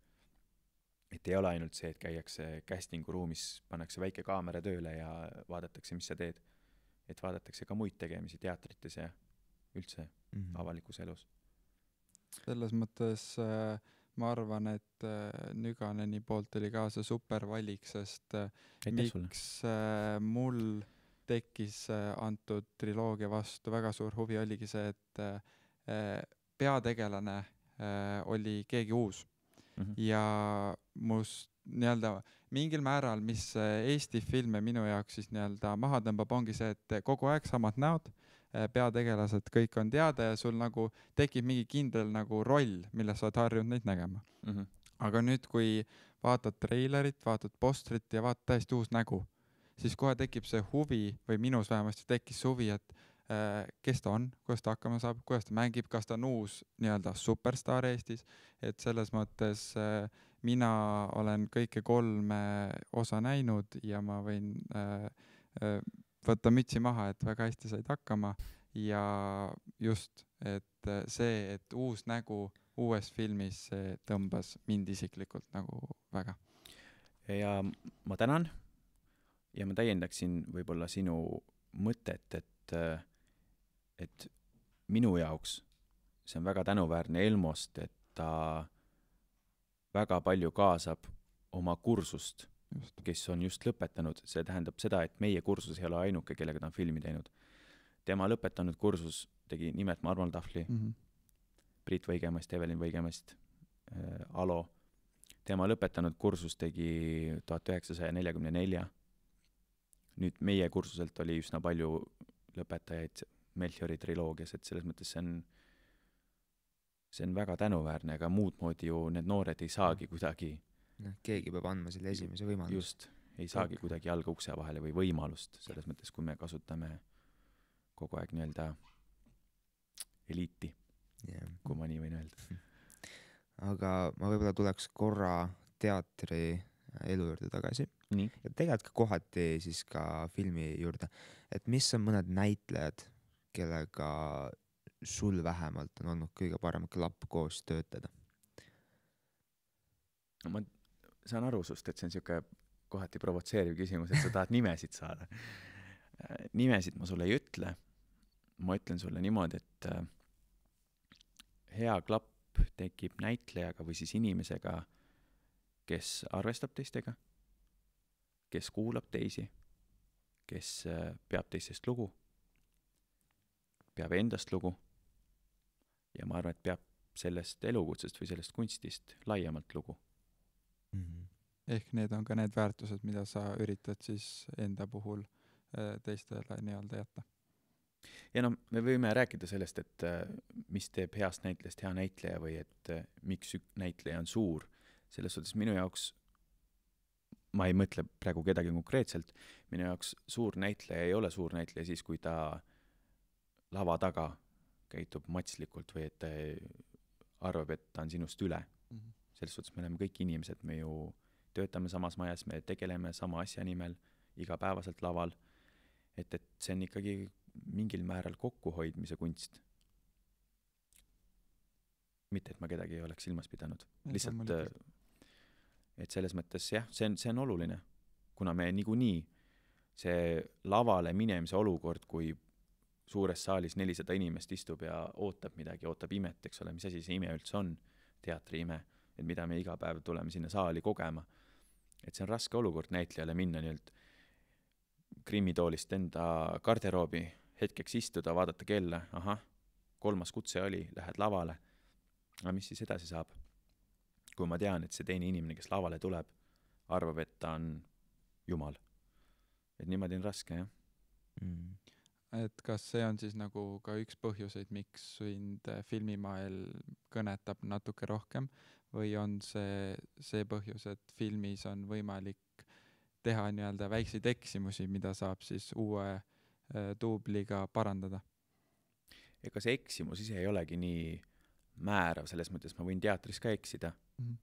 Et ei ole ainult see, et käiakse castingu ruumis, pannakse väike kaamera tööle ja vaadatakse, mis sa teed. Et vaadatakse ka muid tegemisi teatrites ja üldse avalikus elus. Selles mõttes ma arvan, et Nüganeni poolt oli ka see super valik, sest miks mul tekkis antud triloogia vastu väga suur huvi oligi see, et peategelane oli keegi uus. Ja must nii-öelda mingil määral, mis Eesti filme minu jaoks siis nii-öelda maha tõmbab, ongi see, et kogu aeg samad näod, peategelased, kõik on teada ja sul nagu tekib mingi kindel nagu roll, milles sa oled harjunud neid nägema. Aga nüüd, kui vaatad treilerit, vaatad postrit ja vaatad täiesti uus nägu, siis kohe tekib see huvi, või minus vähemasti tekkis huvi, et kes ta on, kuidas ta hakkama saab, kuidas ta mängib, kas ta on uus nii-öelda superstar Eestis, et selles mõttes mina olen kõike 3 osa näinud ja ma võin võtta mütsi maha, et väga hästi said hakkama ja just, et see, et uus nägu uues filmis tõmbas mind isiklikult nagu väga. Ja ma tänan ja ma täiendaksin võib-olla sinu mõtet, et minu jaoks see on väga tänuväärne Elmost, et ta väga palju kaasab oma kursust, kes on just lõpetanud. See tähendab seda, et meie kursus ei ole ainuke, kellega ta on filmi teinud. Tema lõpetanud kursus tegi nimet Marmal Tahvli, Priit Võigemast, Evelin Võigemast, Alo. Tema lõpetanud kursus tegi 1944. Nüüd meie kursuselt oli üsna palju lõpetajaid Melchiori triloogias, et selles mõttes see on väga tänuväärne, aga muud moodi ju need noored ei saagi kuidagi. Keegi peab andma selle esimese võimalust. Just, ei saagi kuidagi jalga ukse vahele või võimalust, selles mõttes, kui me kasutame kogu aeg nii-öelda eliiti, kui ma nii võin öelda. Aga ma võib-olla tuleks korra teatri elu juurde tagasi. Nii. Ja tegelikult ka kohati siis ka filmi juurde. Et mis on mõned näitlejad, kellega sul vähemalt on olnud kõige parem klapp koos töötada? Ma saan aru sust, et see on siuke kohati provotseeriv küsimus, et sa tahad nimesid saada. Nimesid ma sulle ei ütle. Ma ütlen sulle niimoodi, et hea klapp tekib näitlejaga või siis inimesega, kes arvestab teistega, kes kuulab teisi, kes peab teistest lugu, peab endast lugu ja ma arvan, et peab sellest elukutsest või sellest kunstist laiemalt lugu. Ehk need on ka need väärtused, mida sa üritad siis enda puhul teistele nii-öelda jätta. Ja no me võime rääkida sellest, et mis teeb heast näitlejast hea näitleja või et miks näitleja on suur. Selles suhtes minu jaoks, ma ei mõtle praegu kedagi konkreetselt, minu jaoks suur näitleja ei ole suur näitleja siis, kui ta lava taga käitub matslikult või et ta arvab, et ta on sinust üle. Selles suhtes me oleme kõik inimesed, me ju töötame samas majas, me tegeleme sama asja nimel igapäevaselt laval, et see on ikkagi mingil määral kokkuhoidmise kunst. Mitte, et ma kedagi ei oleks silmas pidanud. Lihtsalt, et selles mõttes jah, see on oluline, kuna me niikuinii see lavale minemise olukord, kui suures saalis 400 inimest istub ja ootab midagi, ootab imet, eks ole, mis asi see ime üldse on, teatri ime, et mida me iga päev tuleme sinna saali kogema. Et see on raske olukord näitlejale minna nii-öelda krimmitoolist enda garderoobi, hetkeks istuda, vaadata kella, 3. kutse oli, lähed lavale. Aga mis siis edasi saab? Kui ma tean, et see teine inimene, kes lavale tuleb, arvab, et ta on jumal. Et niimoodi on raske, jah. Et kas see on siis nagu ka üks põhjuseid, miks sind filmimael kõnetab natuke rohkem või on see põhjus, et filmis on võimalik teha nii-öelda väikseid eksimusi, mida saab siis uue duubliga parandada? Ega see eksimus ise ei olegi nii määrav, selles mõttes ma võin teatris ka eksida.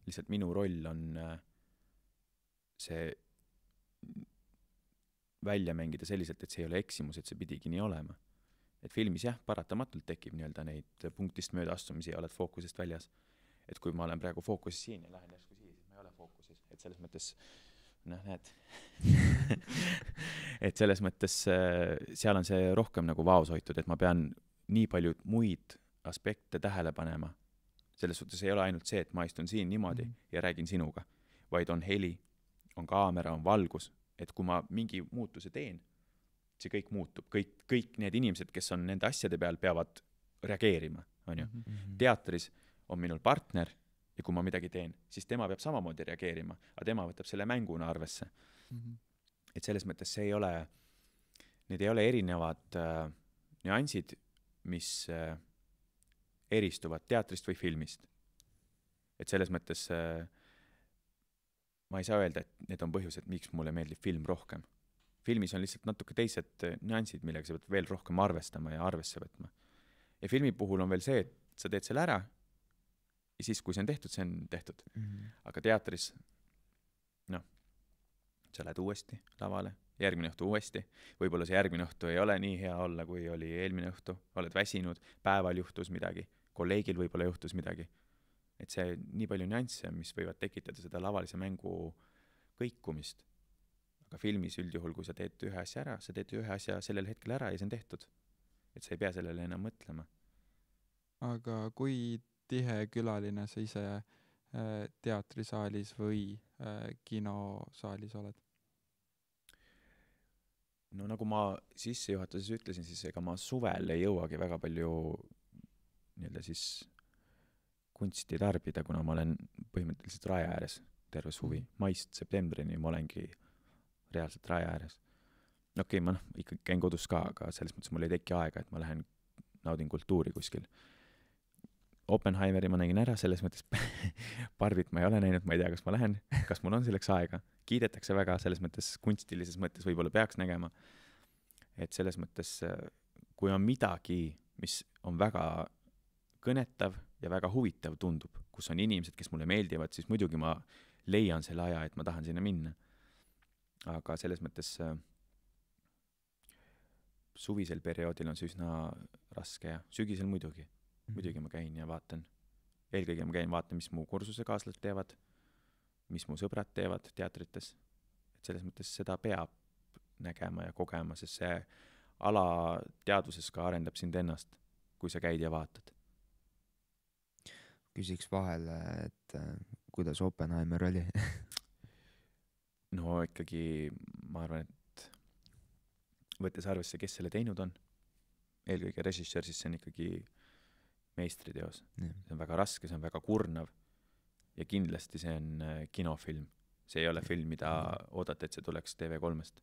Lihtsalt minu roll on see välja mängida selliselt, et see ei ole eksimus, et see pidigi nii olema. Et filmis jah, paratamatult tekib nii-öelda neid punktist mööda astumisi ja oled fookusest väljas. Et kui ma olen praegu fookuses siin ja lähen järsku siia, siis ma ei ole fookuses. Et selles mõttes, näed. Et selles mõttes seal on see rohkem nagu vaos hoitud, et ma pean nii palju muid aspekte tähele panema. Selles suhtes ei ole ainult see, et ma istun siin niimoodi ja räägin sinuga, vaid on heli, on kaamera, on valgus. Et kui ma mingi muutuse teen, see kõik muutub. Kõik need inimesed, kes on nende asjade peal, peavad reageerima. On ju? Teatris on minul partner ja kui ma midagi teen, siis tema peab samamoodi reageerima, aga tema võtab selle mänguna arvesse. Et selles mõttes see ei ole, need ei ole erinevad nüansid, mis eristuvad teatrist või filmist. Et selles mõttes ma ei saa öelda, et need on põhjused, miks mulle meeldib film rohkem. Filmis on lihtsalt natuke teised nüansid, millega sa pead veel rohkem arvestama ja arvesse võtma. Ja filmi puhul on veel see, et sa teed selle ära ja siis, kui see on tehtud, see on tehtud. Aga teatris, sa lähed uuesti lavale, järgmine õhtu uuesti. Võib-olla see järgmine õhtu ei ole nii hea olla, kui oli eelmine õhtu. Oled väsinud, päeval juhtus midagi, kolleegil võib-olla juhtus midagi. Et see nii palju nüansse, mis võivad tekitada seda lavalise mängu kõikumist. Aga filmis üldjuhul, kui sa teed ühe asja ära, sa teed ühe asja sellel hetkel ära ja see on tehtud. Et sa ei pea sellele enam mõtlema. Aga kui tihe külaline sa ise teatrisaalis või kinosaalis oled? No nagu ma sissejuhatuses ütlesin, siis ega ma suvel ei jõuagi väga palju nii-öelda siis kunsti tarbida, kuna ma olen põhimõtteliselt raja ääres terve suvi. Maist septembrini ma olengi reaalselt raja ääres. Okei, ma ikka käin kodus ka, aga selles mõttes mul ei teki aega, et ma lähen naudin kultuuri kuskil. Oppenheimeri ma nägin ära, selles mõttes Barbit ma ei ole näinud, ma ei tea, kas ma lähen, kas mul on selleks aega. Kiidetakse väga, selles mõttes kunstilises mõttes võib-olla peaks nägema. Et selles mõttes, kui on midagi, mis on väga kõnetav ja väga huvitav tundub, kus on inimesed, kes mulle meeldivad, siis muidugi ma leian selle aja, et ma tahan sinna minna. Aga selles mõttes suvisel perioodil on see üsna raske ja sügisel muidugi ma käin ja vaatan. Eelkõige ma käin vaatan, mis mu kursuse kaaslased teevad, mis mu sõbrad teevad teatrites. Et selles mõttes seda peab nägema ja kogema, sest see ala teaduses ka arendab sind ennast, kui sa käid ja vaatad. Küsiks vahele, et kuidas Oppenheimer oli? No ikkagi ma arvan, et võttes arvesse, kes selle teinud on, eelkõige režissöör, siis see on ikkagi meistriteos. See on väga raske, see on väga kurnav ja kindlasti see on kinofilm. See ei ole film, mida oodata, et see tuleks TV3-st.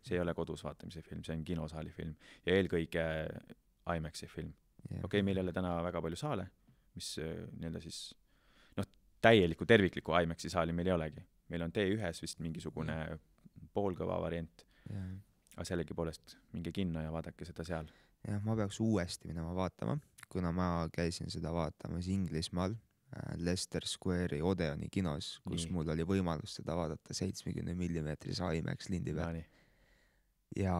See ei ole kodus vaatamise film, see on kinosaali film ja eelkõige IMAX-i film. Okei, meil ei ole täna väga palju saale, mis nii-öelda siis täieliku tervikliku IMAX-i saali meil ei olegi. Meil on T1-s vist mingisugune poolkõva variant, aga sellegi poolest minge kinno ja vaadake seda seal. Jah, ma peaks uuesti minema vaatama, kuna ma käisin seda vaatamas Inglismaal Leicester Square'i Odeoni kinos, kus mul oli võimalus seda vaadata 70 mm IMAX lindi peal. Ja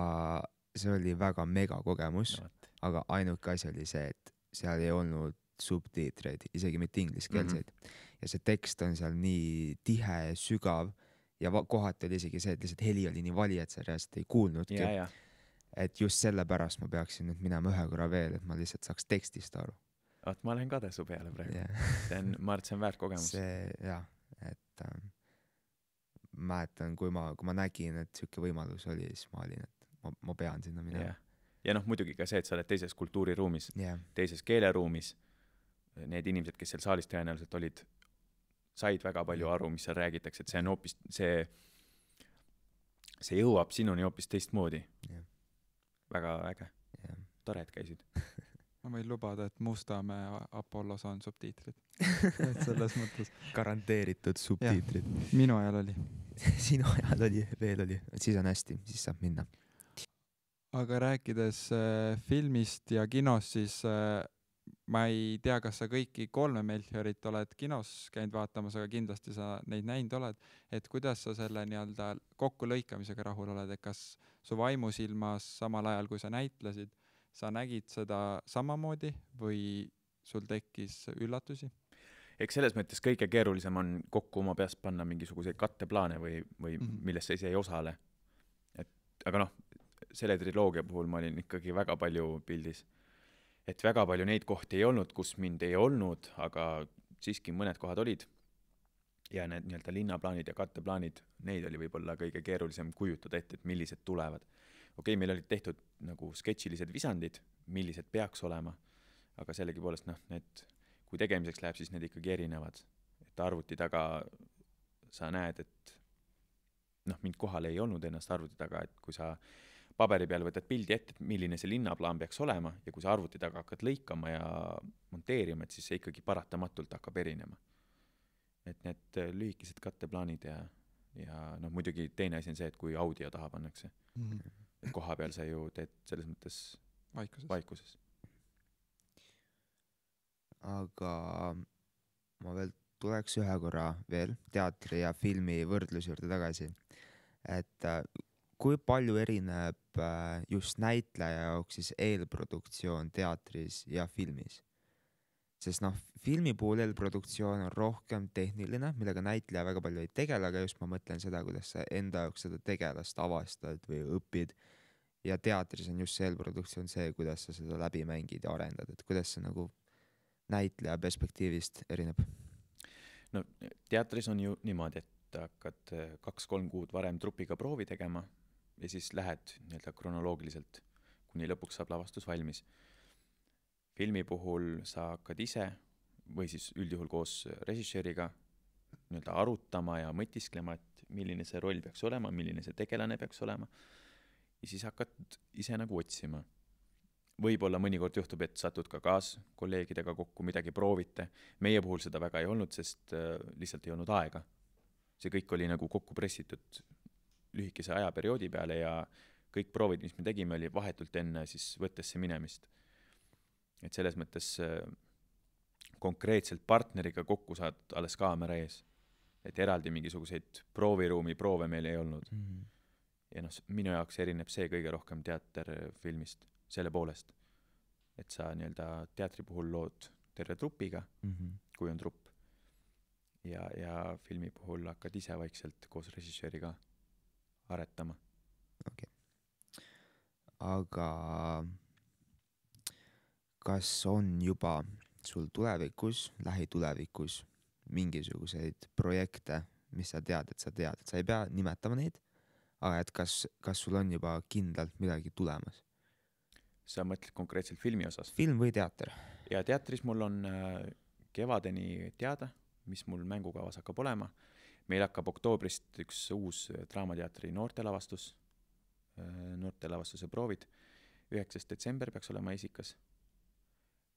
see oli väga mega kogemus, aga ainuke asi oli see, et seal ei olnud subtiitreid, isegi mitte ingliskeelseid. Ja see tekst on seal nii tihe ja sügav ja kohati oli isegi see, et lihtsalt heli oli nii vali, et sa reaalselt ei kuulnudki. Et just selle pärast ma peaksin nüüd minema ühe korra veel, et ma lihtsalt saaks tekstist aru. Ma lähen kade su peale praegu. Ma arvan, et see on väärt kogemus. Et mäletan, kui ma nägin, et siuke võimalus oli, siis ma olin, et ma pean sinna minema. Ja muidugi ka see, et sa oled teises kultuuriruumis, teises keeleruumis. Need inimesed, kes seal saalis tõenäoliselt olid, said väga palju aru, mis seal räägitakse, et see on hoopis, see jõuab sinuni hoopis teistmoodi. Väga äge. Tore, et käisid. Ma võin lubada, et Mustamäe Apollos on subtiitrid. Selles mõttes. Garanteeritud subtiitrid. Minu ajal oli. Sinu ajal oli, veel oli. Siis on hästi, siis saab minna. Aga rääkides filmist ja kinos, siis ma ei tea, kas sa kõiki 3 Melchiorit oled kinos käinud vaatamas, aga kindlasti sa neid näinud oled. Et kuidas sa selle nii-öelda kokkulõikamisega rahul oled, et kas su vaimusilmas samal ajal, kui sa näitlesid, sa nägid seda samamoodi või sul tekkis üllatusi? Eks selles mõttes kõige keerulisem on kokku oma peast panna mingisuguseid katteplaane või millest sa ise ei osale. Aga selle triloogia puhul ma olin ikkagi väga palju pildis. Et väga palju neid kohti ei olnud, kus mind ei olnud, aga siiski mõned kohad olid. Ja need nii-öelda linnaplaanid ja katteplaanid, neid oli võib-olla kõige keerulisem kujutada ette, et millised tulevad. Okei, meil olid tehtud nagu sketšilised visandid, millised peaks olema, aga sellegi poolest need, kui tegemiseks läheb, siis need ikkagi erinevad. Et arvuti taga sa näed, et mind kohal ei olnud ennast arvuti taga, et kui sa paberi peal võtad pildi ette, milline see linnaplaan peaks olema ja kui sa arvuti taga hakkad lõikama ja monteerima, et siis see ikkagi paratamatult hakkab erinema. Et need lühikesed katteplaanid ja muidugi teine asi on see, et kui audio taha pannakse. Et koha peal sa ju teed selles mõttes vaikuses. Aga ma veel tuleks ühe korra veel teatri ja filmi võrdlus juurde tagasi. Et kui palju erineb just näitleja jaoks siis eelproduktsioon teatris ja filmis? Sest filmi puhul eelproduktsioon on rohkem tehniline, millega näitleja väga palju ei tegele, aga just ma mõtlen seda, kuidas sa enda jaoks seda tegelast avastad või õpid. Ja teatris on just see eelproduktsioon see, kuidas sa seda läbi mängid ja arendad, et kuidas see nagu näitleja perspektiivist erineb? Teatris on ju niimoodi, et hakkad 2-3 kuud varem trupiga proovi tegema ja siis lähed nii-öelda kronoloogiliselt, kuni lõpuks saab lavastus valmis. Filmi puhul sa hakkad ise või siis üldjuhul koos režissööriga nii-öelda arutama ja mõtisklema, et milline see roll peaks olema, milline see tegelane peaks olema. Ja siis hakkad ise nagu otsima. Võib-olla mõnikord juhtub, et satud ka kolleegidega kokku, midagi proovite. Meie puhul seda väga ei olnud, sest lihtsalt ei olnud aega. See kõik oli nagu kokku pressitud lühikese ajaperioodi peale ja kõik proovid, mis me tegime, oli vahetult enne siis võttesse minemist. Et selles mõttes konkreetselt partneriga kokku saad alles kaamera ees. Et eraldi mingisuguseid prooviruumi proove meil ei olnud. Ja minu jaoks erineb see kõige rohkem teaterfilmist selle poolest. Et sa nii-öelda teatri puhul lood terve trupiga, kui on trupp. Ja filmi puhul hakkad ise vaikselt koos režissööriga aretama. Okay. Aga kas on juba sul tulevikus, lähitulevikus mingisuguseid projekte, mis sa tead, et sa ei pea nimetama neid, aga et kas sul on juba kindlalt midagi tulemas? Sa mõtled konkreetselt filmi osas? Film või teater? Ja teatris mul on kevadeni teada, mis mul mängukavas hakkab olema. Meil hakkab oktoobrist üks uus Draamateatri noortelavastus noortelavastuse proovid. 9. detsember peaks olema esikas.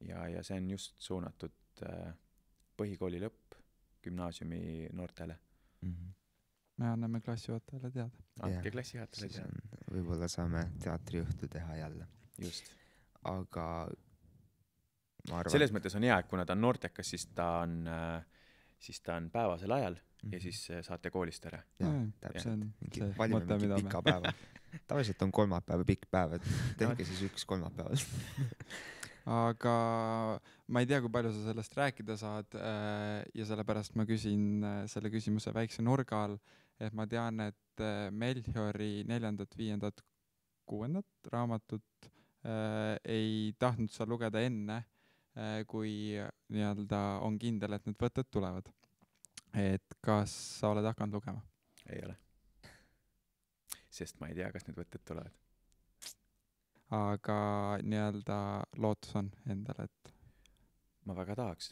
Ja see on just suunatud põhikooli lõpp gümnaasiumi noortele. Me anname klassijuhatajale teada. Andke klassijuhatajale teada. Võib-olla saame teatriõhtu teha jälle. Just. Aga ma arvan... Selles mõttes on hea, et kuna ta on noortekas, siis ta on päevasel ajal ja siis saate koolist ära. Jah, täpselt. Valime mingi pika päeva. Tavaliselt on kolmapäeva pikk päev, et tehke siis üks kolmapäeval. Aga ma ei tea, kui palju sa sellest rääkida saad ja sellepärast ma küsin selle küsimuse väikse nurga all, et ma tean, et Melchiori 4., 5., 6. raamatut ei tahtnud sa lugeda enne, kui nii-öelda on kindel, et need võtted tulevad. Et kas sa oled hakanud lugema? Ei ole. Sest ma ei tea, kas need võtted tulevad. Aga nii-öelda lootus on endale, et... Ma väga tahaks,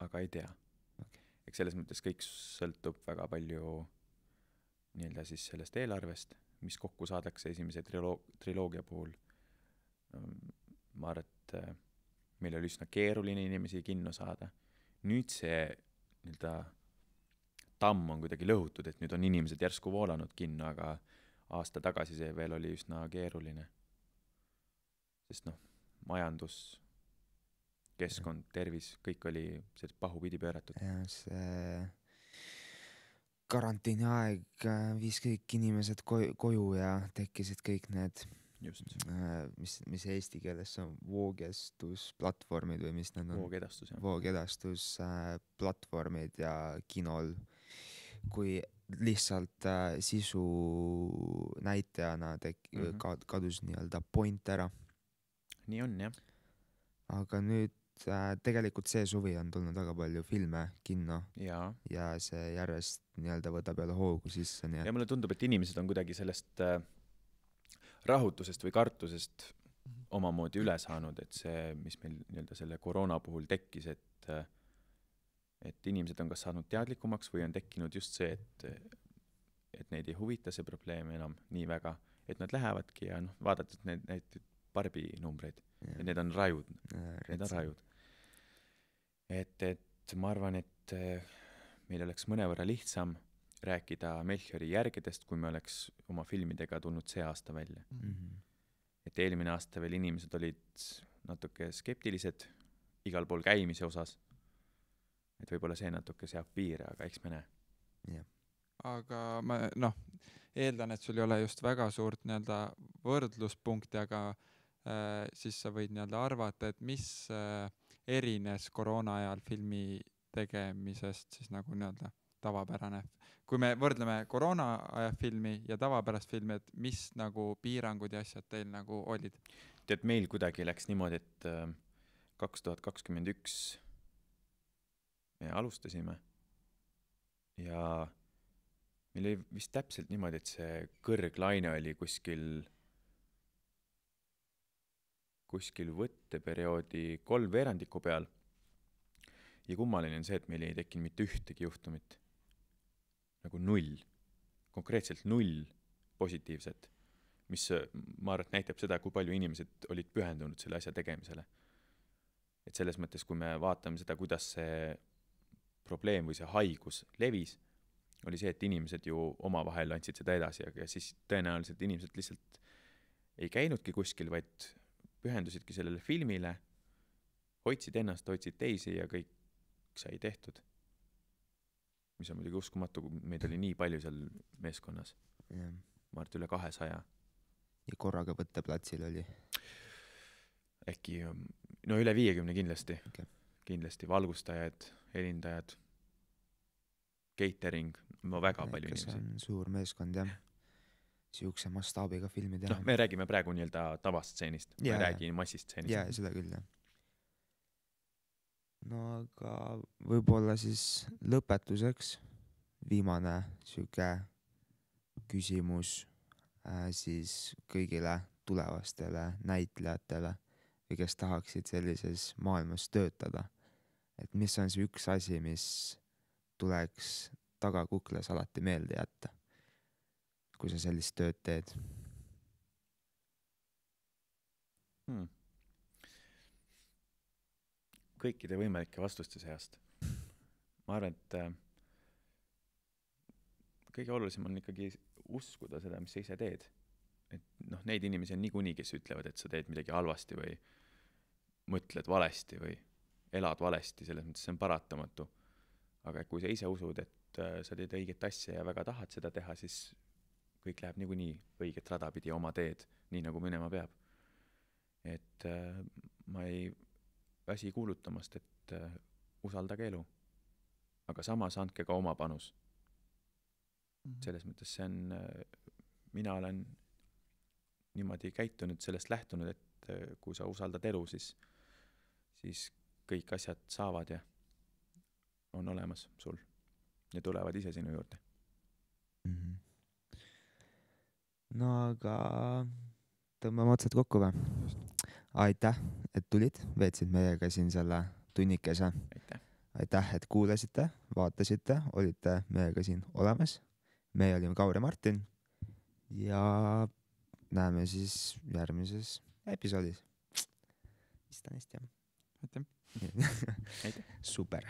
aga ei tea. Okay. Eks selles mõttes kõik sõltub väga palju nii-öelda siis sellest eelarvest, mis kokku saadakse esimese triloogia puhul. Ma arvan, et meil oli üsna keeruline inimesi kinno saada. Nüüd see nii-öelda tamm on kuidagi lõhutud, et nüüd on inimesed järsku voolanud kinno, aga aasta tagasi see veel oli üsna keeruline. Sest majandus, keskkond, tervis, kõik oli pahupidi pööratud. Ja see karantiini aeg viis kõik inimesed koju ja tekkisid kõik need, mis eesti keeles on voogestusplatvormid või mis need on? Voogedastus platvormid ja kinol, kui lihtsalt sisu näitajana kadus nii-öelda point ära. Nii on, jah. Aga nüüd tegelikult see suvi on tulnud väga palju filme kinno ja see järjest nii-öelda võtab jälle hoogu sisse. Ja mulle tundub, et inimesed on kuidagi sellest rahutusest või kartusest omamoodi üle saanud, et see, mis meil nii-öelda selle koroona puhul tekkis, et inimesed on kas saanud teadlikumaks või on tekkinud just see, et neid ei huvita see probleem enam nii väga, et nad lähevadki ja vaadates need Barbi numbreid, et need on rajud. Need on rajud. Et ma arvan, et meil oleks mõnevõrra lihtsam rääkida Melchiori järgedest, kui me oleks oma filmidega tulnud see aasta välja. Et eelmine aasta veel inimesed olid natuke skeptilised igal pool käimise osas. Et võib-olla see natuke seab piire, aga eks me näe. Aga ma eeldan, et sul ei ole just väga suurt nii-öelda võrdluspunkti, aga siis sa võid nii-öelda arvata, et mis erines koroona ajal filmi tegemisest siis nagu nii-öelda tavapärane. Kui me võrdleme koroona aja filmi ja tavapärast filmi, et mis nagu piirangud ja asjad teil nagu olid? Tead, meil kuidagi läks niimoodi, et 2021 me alustasime ja meil oli vist täpselt niimoodi, et see kõrglaine oli kuskil võtteperioodi 3 veerandiku peal ja kummaline on see, et meil ei tekkinud mitte ühtegi juhtumit. Nagu 0. Konkreetselt 0 positiivset, mis ma arvan, näitab seda, kui palju inimesed olid pühendunud selle asja tegemisele. Et selles mõttes, kui me vaatame seda, kuidas see probleem või see haigus levis, oli see, et inimesed ju omavahel andsid seda edasi, aga siis tõenäoliselt inimesed lihtsalt ei käinudki kuskil, vaid pühendusidki sellele filmile, hoidsid ennast, hoidsid teisi ja kõik sai tehtud. Mis on muidugi uskumatu, kui meid oli nii palju seal meeskonnas. Ma arvan, üle 200. Ja korraga võtteplatsil oli? Äkki, üle 50 kindlasti. Okay. Kindlasti valgustajad, helindajad, catering, väga palju inimesi. See on suur meeskond, jah. Siukse mastaabiga filmi teha. Me räägime praegu nii-öelda tavastseenist. Me räägime massistseenist. Jaa, seda küll, jah. No aga võib-olla siis lõpetuseks viimane siuke küsimus siis kõigile tulevastele näitlejatele või kes tahaksid sellises maailmas töötada. Et mis on see üks asi, mis tuleks tagakukles alati meelde jätta, kui sa sellist tööd teed? Kõikide võimalike vastuste seast. Ma arvan, et kõige olulisem on ikkagi uskuda seda, mis sa ise teed. Et noh, neid inimesi on niikuinii, kes ütlevad, et sa teed midagi halvasti või mõtled valesti või elad valesti, selles mõttes see on paratamatu. Aga kui sa ise usud, et sa teed õiget asja ja väga tahad seda teha, siis kõik läheb niikuinii õiget rada pidi oma teed, nii nagu minema peab. Et ma ei väsi kuulutamast, et usaldage elu. Aga samas andke ka oma panus. Selles mõttes see on, mina olen niimoodi käitunud, sellest lähtunud, et kui sa usaldad elu, siis kõik asjad saavad ja on olemas sul ja tulevad ise sinu juurde. No aga tõmbame otsad kokku või? Aitäh, et tulid, veetsid meiega siin selle tunnikese. Aitäh, et kuulasite, vaatasite, olite meiega siin olemas. Meie olime Kaur ja Martin ja näeme siis järgmises episoodis. Vist on hästi, jah. Aitäh. Super.